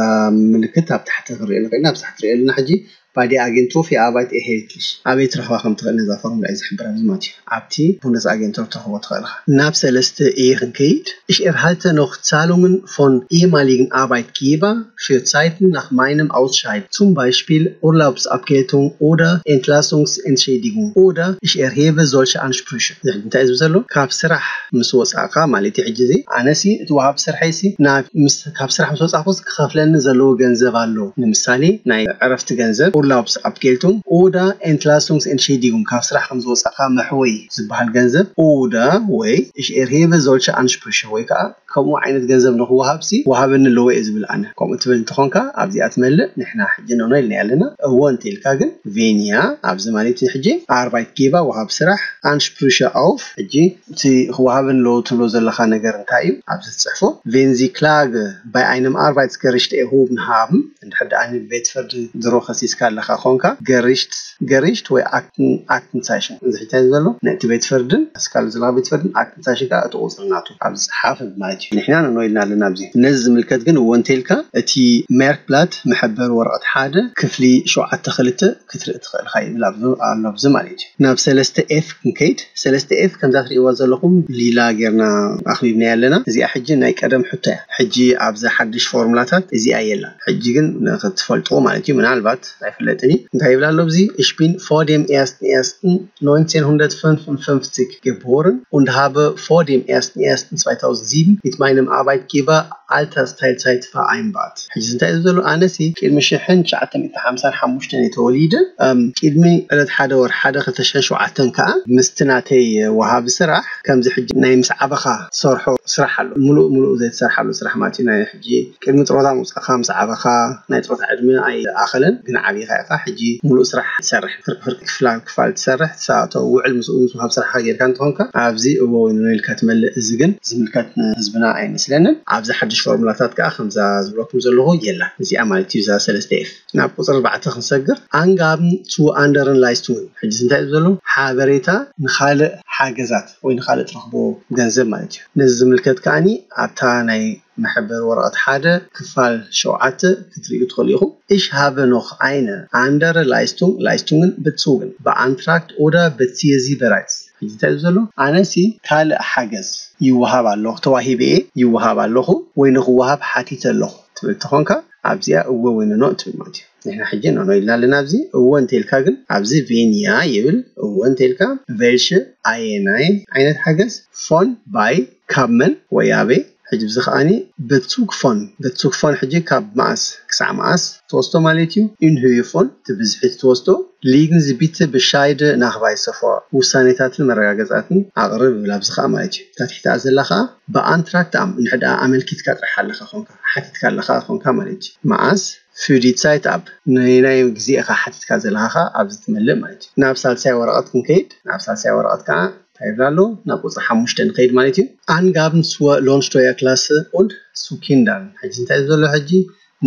ምልክት ኣብ ታሕቲ ክንሪኦ ንኽእል ኢና። ኣብ ታሕቲ ሪኦ ኣለና ሕጂ ባዲ ኣጌንትሮፍ የኣባይት ኤሄልትሽ ኣበይ ትረኽባ ከም ትኽእል ነዛ ፎርሙላ እዩ ዝሕብር ኣብዚ ማለት እዩ። ኣብቲ ቡንደስ ኣጌንትሮፍ ትረኽቦ ትኽእል ኢኻ። ናብ ሰለስተ ኤ ክንከይድ። Ich erhalte noch Zahlungen von ehemaligen Arbeitgeber für Zeiten nach meinem Ausscheiden, zum Beispiel Urlaubsabgeltung oder Entlassungsentschädigung, oder ich erhebe solche Ansprüche. እዚ እንታይ እዩ ዝብል ዘሎ? ካብ ስራሕ ምስ ወፃእካ ማለት እዩ። ሕጂ እዚ ኣነሲ እቲ ወሃቢ ስርሐይሲ ናብ ምስ ካብ ስራሕ ምስ ወፃእኩስ ክኸፍለኒ ዘለዎ ገንዘብ ኣሎ። ንምሳሌ ናይ ዕረፍቲ ገንዘብ፣ Urlaubsabgeltung oder Entlassungsentschädigung፣ ካብ ስራሕ ከም ዝወፃእካ መሕወይ ዝበሃል ገንዘብ፣ oder ወይ ich erhebe solche Ansprüche፣ ወይ ከዓ ከምኡ ዓይነት ገንዘብ ንክወሃብሲ ወሃበኒ ኣለዎ እየ ዝብል ኣነ። ከምኡ ትብል እንተኾንካ ኣብዚኣ ትመልእ። ንሕና ሕጂ ኖኖ ኢልና ኣለና። እዎ እንተ ኢልካ ግን ቬንያ ኣብዚ ማለት እዩ። ሕጂ ኣርባይት ጌባ ወሃብ ስራሕ ኣንሽፕሩሸ ኣውፍ። ሕጂ እቲ ክወሃበኒ ኣለዎ ትብሎ ዘለኻ ነገር እንታይ እዩ? ኣብዚ ትፅሕፎ ቬንዚ ክላግ ባይ ኣይነም ኣርባይት ገሪሽት ኤሆብን ሃብን። እንድሕር ደኣ ንቤት ፍርዲ ድሮ ከሲስካ ኣለኻ ኮንካ ገሪሽት ገሪሽት ወይ ኣክትን ኣክትን ሳይሽን እዚ ሕጂ ዘሎ ነቲ ቤት ፍርድን ኣስካል ዝላ ቤት ፍርድን ኣክትን ሳይሽን ከዓ እቲ ቁፅሪ ናቱ ኣብ ዝፅሓፍ ማለት እዩ። ንሕና ንኖ ኢልና ኣለና ኣብዚ ነዚ ዝምልከት ግን እዎ እንተኢልካ እቲ ሜርክብላት መሐበሪ ወረቐት ሓደ ክፍሊ ሸውዓተ ክልተ ክትርኢ ትኽእል ኢኻ ይብል ኣብዚ ኣሎ ኣብዚ ማለት እዩ። ናብ ሰለስተ ኤፍ ክንከይድ ሰለስተ ኤፍ ከምዛ ትርእይዋ ዘለኹም ሊላ ጌርና ኣኽቢብናያ ኣለና። እዚኣ ሕጂ ናይ ቀደም ሕቶ እያ። ሕጂ ኣብዚ ሓድሽ ፎርሙላታት እዚኣ የላን። ሕጂ ግን ንክትፈልጥዎ ማለት እዩ ምናልባት ኣይፍለጥን እዩ እንታይ ይብል ኣሎ ኣብዚ እሽፒን ፎር ዴም ኤስትን ኤስትን ነይንቲን ሁንደርት ፍንፍ ን ፍንፍቲክ geboren und habe vor dem ersten ersten zweitausendsieben mit meinem Arbeitgeber Altersteilzeit vereinbart። ሕጂ እንታይ እዩ ዘሎ ኣነሲ ቅድሚ ሽሕን ትሽዓተ ሚእቲ ሓምሳን ሓሙሽተን እየ ተወሊደ። ቅድሚ ዕለት ሓደ ወር ሓደ ክልተ ሽሕን ሸውዓተን ከዓ ምስቲ ናተይ ወሃቢ ስራሕ ከምዚ ሕጂ ናይ ምስ ዓበኻ ሰርሖ ስራሕ ኣሎ። ሙሉእ ሙሉእ ዘይትሰርሓሉ ስራሕ ማለት እዩ። ናይ ሕጂ ቅድሚ ጥሮታ ምውፃእካ ምስ ዓበኻ ናይ ጥሮታ ዕድመ ኣይኣኸለን፣ ግን ዓብኻ ኢኻ። ሕጂ ሙሉእ ስራሕ ትሰርሕ፣ ፍርቂ ፍርቂ ክፍላል ክፋል ትሰርሕ፣ ትሰኣቶ ውዕል ምስኡ ምስ ወሃብ ስራሕካ ጌርካ እንተኾንካ ኣብዚ እዎ ወይ ኖኖ ኢልካ ትመልእ። እዚ ግን ዝምልከት ንህዝብና ኣይመስለንን። ኣብዚ ሓድሽ ፎርሙላታት ከዓ ከምዛ ዝብለኩም ዘለኹ የላ እዚኣ ማለት እዩ። እዛ ሰለስተ ኤፍ ናብ ቁፅሪ ኣርባዕተ ክንሰግር ኣንጋብን ቱ ኣንደርን ላይስቱን ሕጂ እንታይ እዩ ዘሎ ሓበሬታ ንኻልእ ሓገዛት ወይ ንኻልእ ትረኽቦ ገንዘብ ማለት እዩ። ነዚ ዝምልከት ከዓኒ ኣብታ ናይ መሐበሪ ወረቐት ሓደ ክፋል ሸውዓተ ክትርእዩ ትኽእሉ ኢኹም። Ich habe noch eine andere Leistung, Leistungen bezogen, beantragt oder beziehe sie bereits። ሕጂ እንታይ እዩ ዘሎ ኣነሲ ካልእ ሓገዝ ይወሃብ ኣለኹ ተዋሂበ እየ ይወሃብ ኣለኹ ወይ ንክወሃብ ሓቲተ ኣለኹ ትብል ተኾንካ ኣብዚኣ እወ ወይ ኖኖ እትብል ማለት እዩ። ንሕና ሕጂ ኖኖ ኢልና ኣለና። ኣብዚ እወ እንተልካ ግን ኣብዚ ቬንያ ይብል። እወ እንተልካ ቬልሽ ኣየናይ ዓይነት ሓገዝ ፎን ባይ ካብ መን ወይ ኣበይ? ሕጂ ብዚ ከዓኒ በቱክ ፎን በቱክ ፎን ሕጂ ካብ መኣስ ክሳዕ መኣስ ትወስዶ ማለት እዩ። ኢንሁይ ፎን ትብዝሒ ትወስዶ ሊግን ዝቢት ብሻይድ ናኽባይ ሰፎ ውሳኔታትን መረጋገጻትን ኣቕርብ ይብል። ኣብዚ ከኣ ማለት እዩ እታ ትሕቲኣ ዘላ ከኣ ብኣንትራክት ኣም እንድሕር ደኣ ኣመልኪትካ ጥራሕ ኣለኻ ኮንካ ሓቲትካ ኣለኻ ኮንካ ማለት እዩ። መኣስ ፊዲት ሳይት ኣብ ናይ ናይ ግዜ ኢኻ ሓቲትካ ዘለኻ ከኣ ኣብዚ ትመልእ ማለት እዩ። ናብ ሳልሳይ ወረቐት ክንከይድ ናብ ሳልሳይ ወረቐት ከኣ እንታይ ይብል ኣሎ ናብ ቁፅሪ ሓሙሽተ ንኸይድ ማለት እዩ። ኣንጋብን ስወ ሎንስቶያ ክላስ ኡንድ ሱኪንዳን ሕጂ እንታይ ዘሎ ሕጂ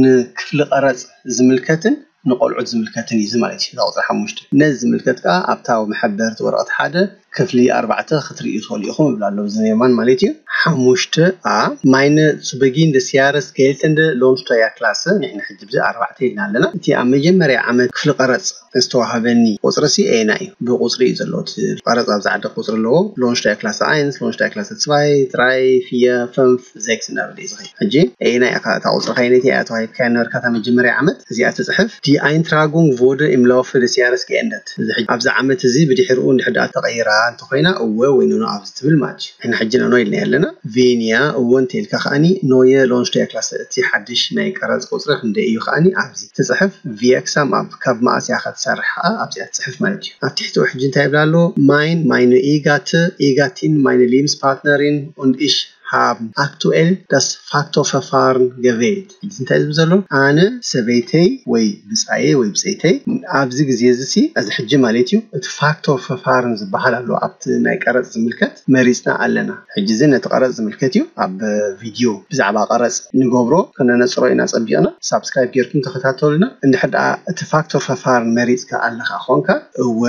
ንክፍሊ ቀረፅ ዝምልከትን ንቆልዑት ዝምልከትን እዩ ማለት እዩ። ቁፅሪ ሓሙሽተ ነዚ ዝምልከት ከዓ ኣብታ መሐበርቲ ወረቐት ሓደ ክፍሊ ኣርባዕተ ክትርእዩ ትኽእሉ ኢኹም ይብል ኣሎ ብዝኔማን ማለት እዩ። ሓሙሽተ ኣ ማይነ ሱበጊን ደ ሲያረስ ጌልተንደ ሎንስቶያ ክላስ ንሕና ሕጂ ብዚ ኣርባዕተ ኢልና ኣለና። እቲ ኣብ መጀመርያ ዓመት ክፍሊ ቀረፅ ዝተዋሃበኒ ቁፅሪ ሲ ኤና እዩ። ብቁፅሪ እዩ ዘለዎ እቲ ቀረፅ ኣብዚ ዓዲ ቁፅሪ ኣለዎ። ሎንሽታይ ክላስ ኣይንስ ሎንሽታይ ክላስ ትስባይ ጥራይ ፍየ ፈንፍ ዜክስ እናበለ እዩ ዝኸይድ። ሕጂ ኤና ኢኻ እታ ቁፅሪ ከይነቲ እያ ተዋሂብካ ነበርካ እታ መጀመርያ ዓመት እዚኣ ትፅሕፍ። ዲ ኣይንትራጉንግ ቮደ ኢም ላውፈ ደስ ያረስ ገኤንደት ኣብዚ ዓመት እዚ ብድሕሪኡ እንድሕር ደኣ ተቐይራ እንተኮይና እወ ወይ ኖኖ ኣብዚ ትብል ማለት እዩ። ሕና ሕጂ ኖኖ ኢልና ኣለና። ቬንያ እወ እንተኢልካ ከኣኒ ኖየ ሎንሽቶያ ክላስ እቲ ሓድሽ ናይ ቀረፅ ቁፅሪ ክንደይ እዩ ከኣኒ ኣብዚ ትፅሕፍ። ቪየክሳም ኣብ ካብ መኣስ እያ ክትሰርሕ ኣብዚኣ ትፅሕፍ ማለት እዩ። ኣብ ትሕቲኡ ሕጂ እንታይ ይብላ ኣሎ? ማይን ማይነ ኢጋት ኢጋቲን ማይነ ሊምስ ፓርትነሪን und ich haben aktuell das Faktorverfahren gewählt። ሕጂ እንታይ ዝብል ዘሎ ኣነ ሰበይተይ ወይ ብፃየ ወይ ብፀይተይ ኣብዚ ግዜ እዚ ሲ እዚ ሕጂ ማለት እዩ እቲ ፋክቶር ፈፋርን ዝበሃል ኣሎ ኣብቲ ናይ ቀረፅ ዝምልከት መሪፅና ኣለና። ሕጂ እዚ ነቲ ቀረፅ ዝምልከት እዩ። ኣብ ቪድዮ ብዛዕባ ቀረፅ ንገብሮ ክነነፅሮ ኢና ፀቢቕና። ሳብስክራይብ ጌርኩም ተኸታተሉና። እንድሕር ደኣ እቲ ፋክቶር ፈፋርን መሪፅካ ኣለኻ ኮንካ እወ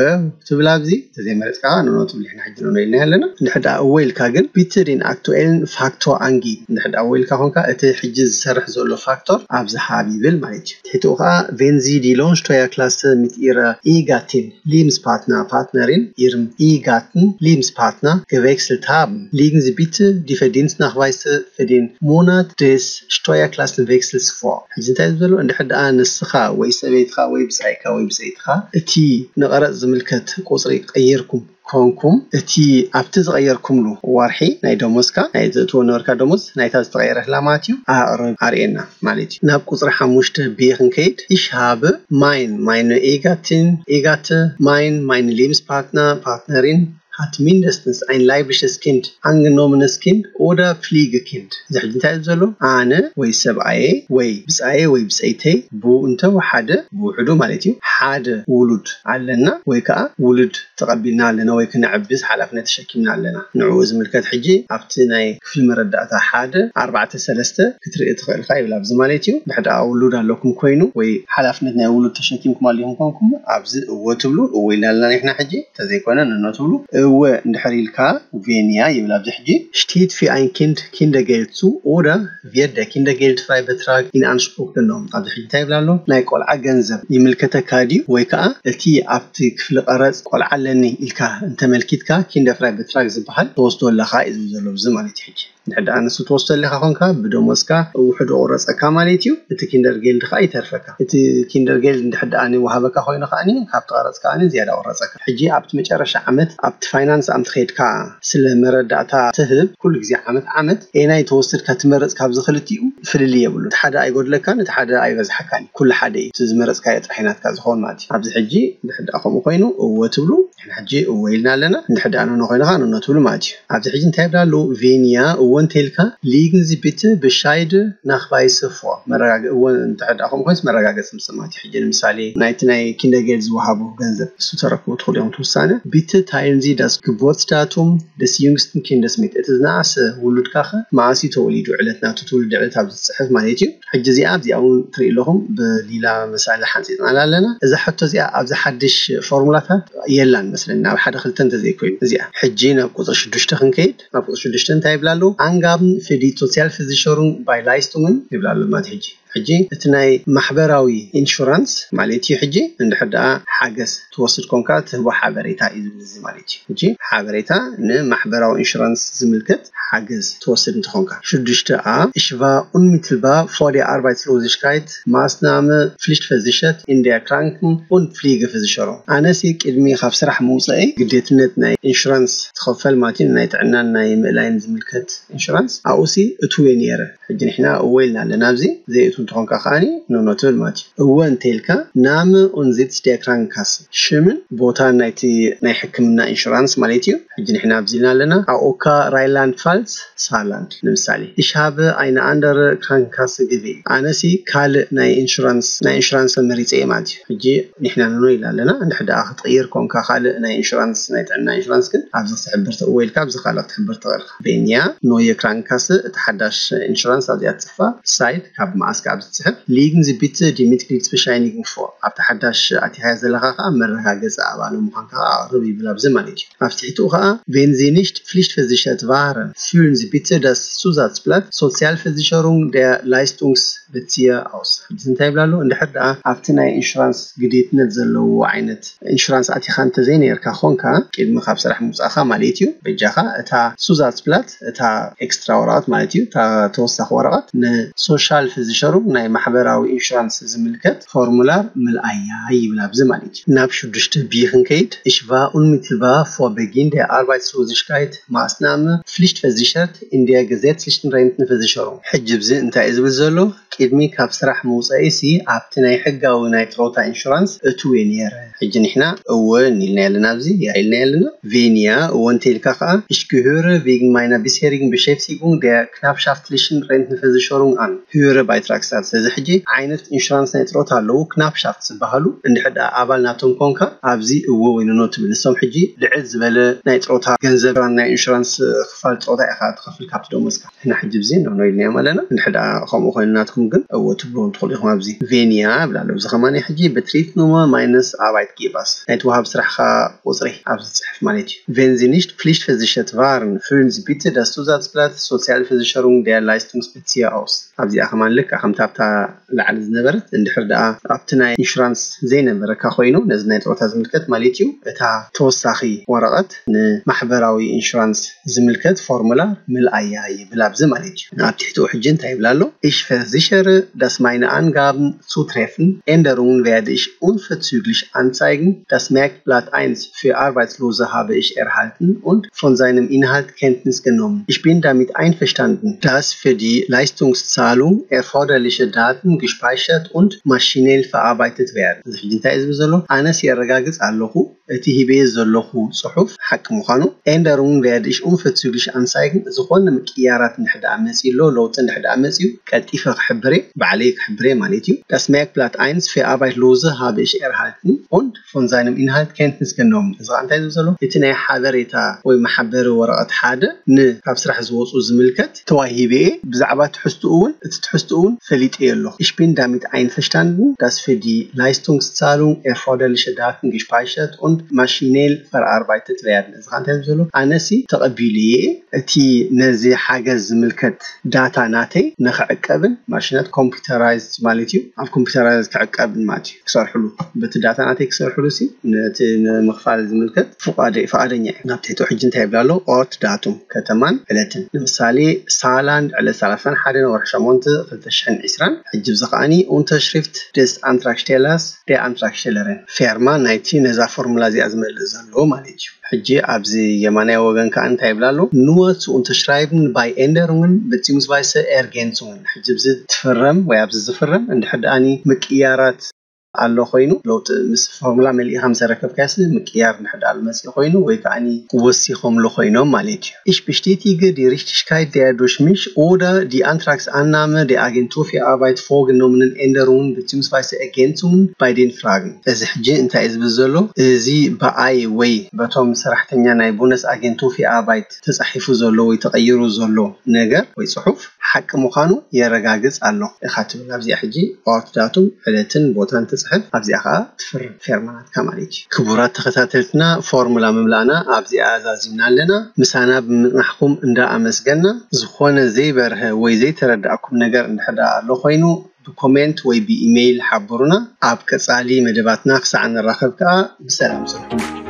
ትብል ኣብዚ ተዘይመረፅካ ኖኖ ትብል። ሕና ሕጂ ኖኖ ኢልና ኣለና። እንድሕር ደኣ እወ ኢልካ ግን ቢትሪን ኣክቱኤልን ፋክቶ ኣንጊ እንድሕር ደኣ እወ ኢልካ ኮንካ እቲ ሕጂ ዝሰርሕ ዘሎ ፋክቶር ኣብዚ ሃብ ይብል ማለት እዩ። ትሕትኡ ከዓ ቬንዚ ዲ ሎንሽቶያ ክላስ ሚት ኢረ ኢጋቲን ሊምስ ፓርትና ፓርትነሪን ኢርም ኢጋትን ሊምስ ፓርትና gewechselt haben liegen sie bitte die Verdienstnachweise für den Monat des Steuerklassenwechsels vor። ሕጂ እንታይ እዩ ዘሎ? እንድሕር ደኣ ንስኻ ወይ ሰበይትኻ ወይ ብፃይካ ወይ ብፀይትኻ እቲ ንቐረፅ ዝምልከት ቁፅሪ ቀይርኩም ኮንኩም እቲ ኣብቲ ዝቐየርኩምሉ ወርሒ ናይ ደሞዝካ ናይ ዘእትዎ ነበርካ ደሞዝ ናይታ ዝተቐየረትላ ማለት እዩ ኣቕርብ ኣርእየና ማለት እዩ። ናብ ቁፅሪ ሓሙሽተ ብ ክንከይድ ich habe mein meine Egatin Egate mein meine Lebenspartner Partnerin hat mindestens ein leibliches Kind angenommenes Kind oder Pflegekind እዚ ሕጂ እንታይ እዩ ዘሎ? ኣነ ወይ ሰብኣየ ወይ ብፃየ ወይ ብፀይተይ ብኡ እንተወሓደ ብውሕዱ ማለት እዩ ሓደ ውሉድ ኣለና ወይ ከዓ ውሉድ ተቐቢልና ኣለና ወይ ክነዕብስ ሓላፍነት ተሸኪምና ኣለና። ንዕኡ ዝምልከት ሕጂ ኣብቲ ናይ ክፍሊ መረዳእታ ሓደ ኣርባዕተ ሰለስተ ክትርኢ ትኽእል ኢኻ ይብል። ኣብዚ ማለት እዩ ድሕር ደኣ ውሉድ ኣለኩም ኮይኑ ወይ ሓላፍነት ናይ ውሉድ ተሸኪምኩም ኣሊኹም ኮንኩም ኣብዚ እወ ትብሉ እወ ኢልና ኣለና ንሕና ሕጂ እንተዘይኮነ ንኖ ትብሉ እወ እንድሕር ኢልካ ቬንያ ይብል። ኣብዚ ሕጂ steht für ein Kind Kindergeld zu oder wird der Kindergeldfreibetrag in Anspruch genommen ኣብዚ ሕጂ እንታይ ይብል ኣሎ? ናይ ቆልዓ ገንዘብ ይምልከተካ ድዩ ወይ ከዓ እቲ ኣብቲ ክፍሊ ቀረፅ ቆልዓ ኣለኒ ኢልካ እንተመልኪትካ ኪንደፍራይ በትራግ ዝበሃል ትወስዶ ኣለኻ እዩ ዝብል ዘሎ ብዚ ማለት እዩ። ሕጂ እንድሕር ደኣ ንሱ ትወስዶ ኣለኻ ኮንካ ብደሞዝካ ውሕዶ ቁረፀካ ማለት እዩ። እቲ ኪንደር ጌልድ ከዓ ይተርፈካ። እቲ ኪንደር ጌልድ እንድሕር ደኣ ወሃበካ ኮይኑ ከዓኒ ካብቲ ቀረፅ ከዓኒ ዝያዳ ቁረፀካ። ሕጂ ኣብቲ መጨረሻ ዓመት ኣብቲ ፋይናንስ ኣምቲ ከይድካ ስለ መረዳእታ ትህብ ኩሉ ግዜ ዓመት ዓመት ኤናይ ተወስድካ ትመርፅ ካብዚ ክልቲኡ ፍልልይ የብሉ። እቲ ሓደ ኣይጎድለካን እቲ ሓደ ኣይበዝሓካን ኩሉ ሓደ እዩ። እቲ ዝመረፅካዮ ጥራሕ ናትካ ዝኸውን ማለት እዩ። ኣብዚ ሕጂ እንድሕር ደኣ ከምኡ ኮይኑ እወ ትብሉ ንሕና ሕጂ እወ ኢልና ኣለና። እንድሕር ደኣ ኖኖ ኮይንካ ኖኖ ትብሉ ማለት እዩ። ኣብዚ ሕጂ እንታይ ይብላ ኣለዉ? ቬንያ እወ እንተኢልካ ሊግን ዚ ቢት ብሻይድ ናኽባይስ ፎ መረጋገ እወ እንድሕር ደኣ ከምኡ ኮይንስ መረጋገፂ ምስ ማለት እዩ። ሕጂ ንምሳሌ ናይቲ ናይ ኪንደርጌል ዝወሃቡ ገንዘብ እሱ ተረክቡ ትኽእሉ እዮም ትውሳነ ቢት ታይልንዚ ዳስ ግቦርትስዳቱም ደስ ዩንግስትን ኪንደስ ሚት እቲ ዝነኣሰ ውሉድካ ኸ መኣስ እዩ ተወሊዱ ዕለት ናቱ ትውልዲ ዕለት ኣብዚ ትፅሕፍ ማለት እዩ። ሕጂ እዚኣ ኣብዚኣ እውን ትርኢ ኣለኹም ብሊላ መሳሊ ሓንፂፅናላ ኣለና። እዛ ሕቶ እዚኣ ኣብዚ ሓድሽ ፎርሙላታት የላን መስለኒ ናብ ሓደ ክልተ እንተዘይኮይኑ እዚኣ ሕጂ ናብ ቁፅሪ ሽዱሽተ ክንከይድ ናብ ቁፅሪ ሽዱሽተ እንታይ ይብላ ኣለዉ ኣንጋብን ፍዲ ሶሲያል ፍዚሸሩን ባይ ላይስቱምን ይብላ ኣሎ ማለት ሕጂ ሕጂ እቲ ናይ ማሕበራዊ ኢንሹራንስ ማለት እዩ። ሕጂ እንድሕር ደኣ ሓገዝ ትወስድ ኮንካ ትህቦ ሓበሬታ እዩ ዝብል እዚ ማለት እዩ። ሕጂ ሓበሬታ ንማሕበራዊ ኢንሹራንስ ዝምልከት ሓገዝ ትወስድ እንተኾንካ። ሽዱሽተ ኣ፣ Ich war unmittelbar vor der Arbeitslosigkeit Maßnahme Pflichtversichert in der Kranken- und Pflegeversicherung። ኣነሲ ቅድሚ ካብ ስራሕ ምውፀኢ ግዴትነት ናይ ኢንሹራንስ ትኸፈል ማለት እዩ፣ ናይ ጥዕናን ናይ ምእላይን ዝምልከት ኢንሹራንስ ኣብኡሲ እትውየ ነይረ። ሕጂ ንሕና እወ ኢልና ኣለና። ኣብዚ ዘይእቱ እንተኾንካ ከዓኒ ኖኖ ትብል ማለት እዩ። እወ እንተኢልካ Name und Sitz der Krankenkasse፣ ሽምን ቦታን ናይቲ ናይ ሕክምና ኢንሹራንስ ማለት እዩ። ሕጂ ንሕና ኣብዚ ኢልና ኣለና። ኣኦካ ራይላንድ ፋልስ ሳላንድ ንምሳሌ። Ich habe eine andere Krankenkasse gewählt። ኣነሲ ካልእ ናይ ኢንሹራንስ ናይ ኢንሹራንስ መሪፀ እየ ማለት እዩ። ሕጂ ንሕና ንኖ ኢልና ኣለና። እንድሕር ደኣ ክትቕይር ኮንካ ካልእ ናይ ኢንሹራንስ ናይ ጥዕና ኢንሹራንስ ግን ኣብዚ ክትሕብር ትእወ ኢልካ ኣብዚ ካልእ ክትሕብር ትኽእል ኢኻ። Wenn ja, neue Krankenkasse፣ እቲ ሓዳሽ ኢንሹራንስ ኣብዚኣ ትፅሕፋ። Seit፣ ካብ መዓስ ካብ ዝፅሕፍ። Legen Sie bitte die Mitgliedsbescheinigung vor፣ ኣብቲ ሓዳሽ ኣቲኻያ ዘለኻ ከዓ መረጋገፂ ኣባል ምዃንካ ከዓ ኣቕርብ ይብል ኣብዚ ማለት እዩ። ኣብ ትሕትኡ ከዓ Wenn Sie nicht pflichtversichert waren, füllen Sie bitte das Zusatzblatt Sozialversicherung der Leistungsbezieher aus። ሕጂ እንታይ ይብላ ኣሎ? እንድሕር ደኣ ኣብቲ ናይ ኢንሹራንስ ግዴትነት ዘለዎ ዓይነት ኢንሹራንስ ኣቲኻ እንተዘይነርካ ኾንካ ቅድሚ ካብ ስራሕ ምውፃእካ ማለት እዩ፣ በጃኻ እታ Zusatzblatt፣ እታ ኤክስትራ ወረቐት ማለት እዩ፣ እታ ተወሳኺ ወረቐት ንሶሻል versicherung ናይ ማሕበራዊ ኢንሹራንስ ዝምልከት ፎርሙላር ምልኣያ ይብል ኣብዚ ማለት እዩ። ናብ ሽዱሽተ ቢ ክንከይድ። Ich war unmittelbar vor Beginn der Arbeitslosigkeit Maßnahme Pflichtversichert in der gesetzlichen Rentenversicherung። ሕጂ ብዚ እንታይ እዩ ዝብል ዘሎ? ቅድሚ ካብ ስራሕ ምውፀኢሲ ኣብቲ ናይ ሕጋዊ ናይ ጥሮታ ኢንሹራንስ እትውየ ነይረ። ሕጂ ንሕና እወ ኢልና ኣለና፣ ኣብዚ ያ ኢልና ኣለና። Wenn ja፣ እወ እንተኢልካ ከዓ Ich gehöre wegen meiner bisherigen Beschäftigung der Knappschaftlichen Rentenversicherung an, höhere Beitragszahl። ስለዚ ሕጂ ዓይነት ኢንሹራንስ ናይ ጥሮታ ኣለዉ፣ ክናፕሻፍት ዝበሃሉ። እንድሕር ደኣ ኣባል ናቶም ኮንካ ኣብዚ እወ ወይ ኖኖ ትብል። ንሶም ሕጂ ልዕል ዝበለ ናይ ጥሮታ ገንዘብ ናይ ኢንሹራንስ ክፋል ጥሮታ ኢኻ ትኸፍል ካብቲ ደሞዝካ። ንሕና ሕጂ ብዚ ኖኖ ኢልናዮም ኣለና። እንድሕር ደኣ ከምኡ ኮይኑ ናትኩም ግን እወ ትብልዎም ትኽእሉ ኢኹም። ኣብዚ Wenn ja እብል ኣሎ። እዚ ከማን ሕጂ Betriebsnummer meines Arbeitgebers፣ ናይቲ ወሃብ ስራሕኻ ቁፅሪ ኣብዚ ዝፅሕፍ ማለት እዩ። Wenn Sie nicht pflichtversichert waren, füllen Sie bitte das Zusatzblatt Sozialversicherung der Leistungsbezieher aus። ኣብዚኣ ከማን ልክዕ ከምታ ኣብታ ላዕሊ ዝነበረት፣ እንድሕር ደኣ ኣብቲ ናይ ኢንሹራንስ ዘይነበረካ ኮይኑ ነዚ ናይ ጥሮታ ዝምልከት ማለት እዩ፣ እታ ተወሳኺ ወረቐት ንማሕበራዊ ኢንሹራንስ ዝምልከት ፎርሙላ ምልኣያ ይብል ኣብዚ ማለት እዩ። ኣብ ትሕትኡ ሕጂ እንታይ ይብል ኣሎ? Ich versichere, dass meine Angaben zutreffen. Änderungen werde ich unverzüglich anzeigen. Das Merkblatt eins für Arbeitslose habe ich erhalten und von seinem Inhalt Kenntnis genommen. Ich bin damit einverstanden, dass für die Leistungszahlung erforderliche Daten gespeichert und maschinell verarbeitet werden። እዚ ሕጂ እንታይ እዩ ዝብል ዘሎ? ኣነስ የረጋግፅ ኣለኹ እቲ ሂበየ ዘለኹ ጽሑፍ ሓቂ ምዃኑ። Änderungen werde ich unverzüglich anzeigen። ዝኾነ ምቅያራት እንድሕር ደኣ መጺኡ ኣሎ፣ ለውጢ እንድሕር ደኣ መጺኡ ቀልጢፈ ክሕብር እየ፣ ባዕለይ ክሕብር እየ ማለት እዩ። Das Merkblatt eins für Arbeitslose habe ich erhalten und von seinem Inhalt Kenntnis genommen። እዚ ከዓ እንታይ ዝብል ዘሎ? እቲ ናይ ሓበሬታ ወይ መሓበሪ ወረቐት ሓደ ን ካብ ስራሕ ዝወፁ ዝምልከት ተዋሂበ እየ፣ ብዛዕባ ትሕዝትኡ እውን፣ እቲ ትሕዝትኡ እውን ፈሊጠ እየ ኣለኹ። Ich bin damit einverstanden, dass für die Leistungszahlung erforderliche Daten gespeichert und maschinell verarbeitet werden። እዚ ከዓ እንታይ ዝብል ዘሎ? ኣነሲ ተቐቢሉ እየ እቲ ነዚ ሓገዝ ዝምልከት ዳታ ናተይ ንክዕቀብን ማሽናት ኮምፒውተራይዝ ማለት እዩ፣ ኣብ ኮምፒውተራይዝ ክዕቀብን ማለት እዩ፣ ክሰርሕሉ፣ በቲ ዳታ ናተይ ክሰርሕሉ ሲ ነቲ ንምኽፋል ዝምልከት ፍቓደ-፣ ፍቓደኛ እዩ። ናብ ትሕቲ ሕጂ እንታይ ይብላ ኣሎ? ኦርት ዳቱም፣ ከተማን ዕለትን። ንምሳሌ ሳላንድ ዕለት ሰላሳን ሓደን ወርሒ ሸሞንተ ክልተ ሽሕን ዕስራን። ሕጂ ብዚ ከዓኒ Unterschrift des Antragstellers፣ der Antragstellerin፣ ፌርማ ናይቲ ነዛ ፎርሙላ እዚኣ ዝመልእ ዘሎ ማለት እዩ። ሕጂ ኣብዚ የማናይ ወገን ከዓ እንታይ ይብላ ኣሎ? Nur zu unterschreiben bei Änderungen beziehungsweise Ergänzungen። ሕጂ ኣብዚ ትፍረም ወይ ኣብዚ ዝፍረም እንድሕር ደኣኒ ምቅያራት ኣሎ ኮይኑ፣ ለውጢ ምስ ፎርሙላ መሊእኻ ምስ ኣረከብካዮሲ ምቅያር እንድሕር ደኣ መፂኡ ኮይኑ ወይ ከዓኒ ወሲኾምሉ ኮይኖም ማለት እዩ። Ich bestätige die Richtigkeit der durch mich oder die Antragsannahme der Agentur für Arbeit vorgenommenen Änderungen beziehungsweise Ergänzungen bei den Fragen። እዚ ሕጂ እንታይ እዩ ዝብል ዘሎ? እዚ ብኣይ ወይ በቶም ሰራሕተኛ ናይ ቡነስ ኣጌንቱ ፊ ኣርባይት ተፃሒፉ ዘሎ ወይ ተቐይሩ ዘሎ ነገር ወይ ፅሑፍ ሓቂ ምዃኑ የረጋግፅ ኣሎ ኢኻ ትብል። ኣብዚኣ ሕጂ ኦርት ዳቱም፣ ዕለትን ቦታን ትፅሕፍ፣ ኣብዚኣ ከዓ ትፍርም፣ ፌርማ ናትካ ማለት እዩ። ክቡራት ተኸታተልትና፣ ፎርሙላ ምምላእና ኣብዚኣ ኣዛዚምና ኣለና። ምሳና ብምፅናሕኩም እንዳ ኣመስገና፣ ዝኾነ ዘይበርሀ ወይ ዘይተረዳእኩም ነገር እንድሕር ደኣ ኣሎ ኮይኑ ብኮሜንት ወይ ብኢሜይል ሓብሩና። ኣብ ቀፃሊ መደባትና ክሳዕ ንራኸብ ከዓ ብሰላም ፅንሑ።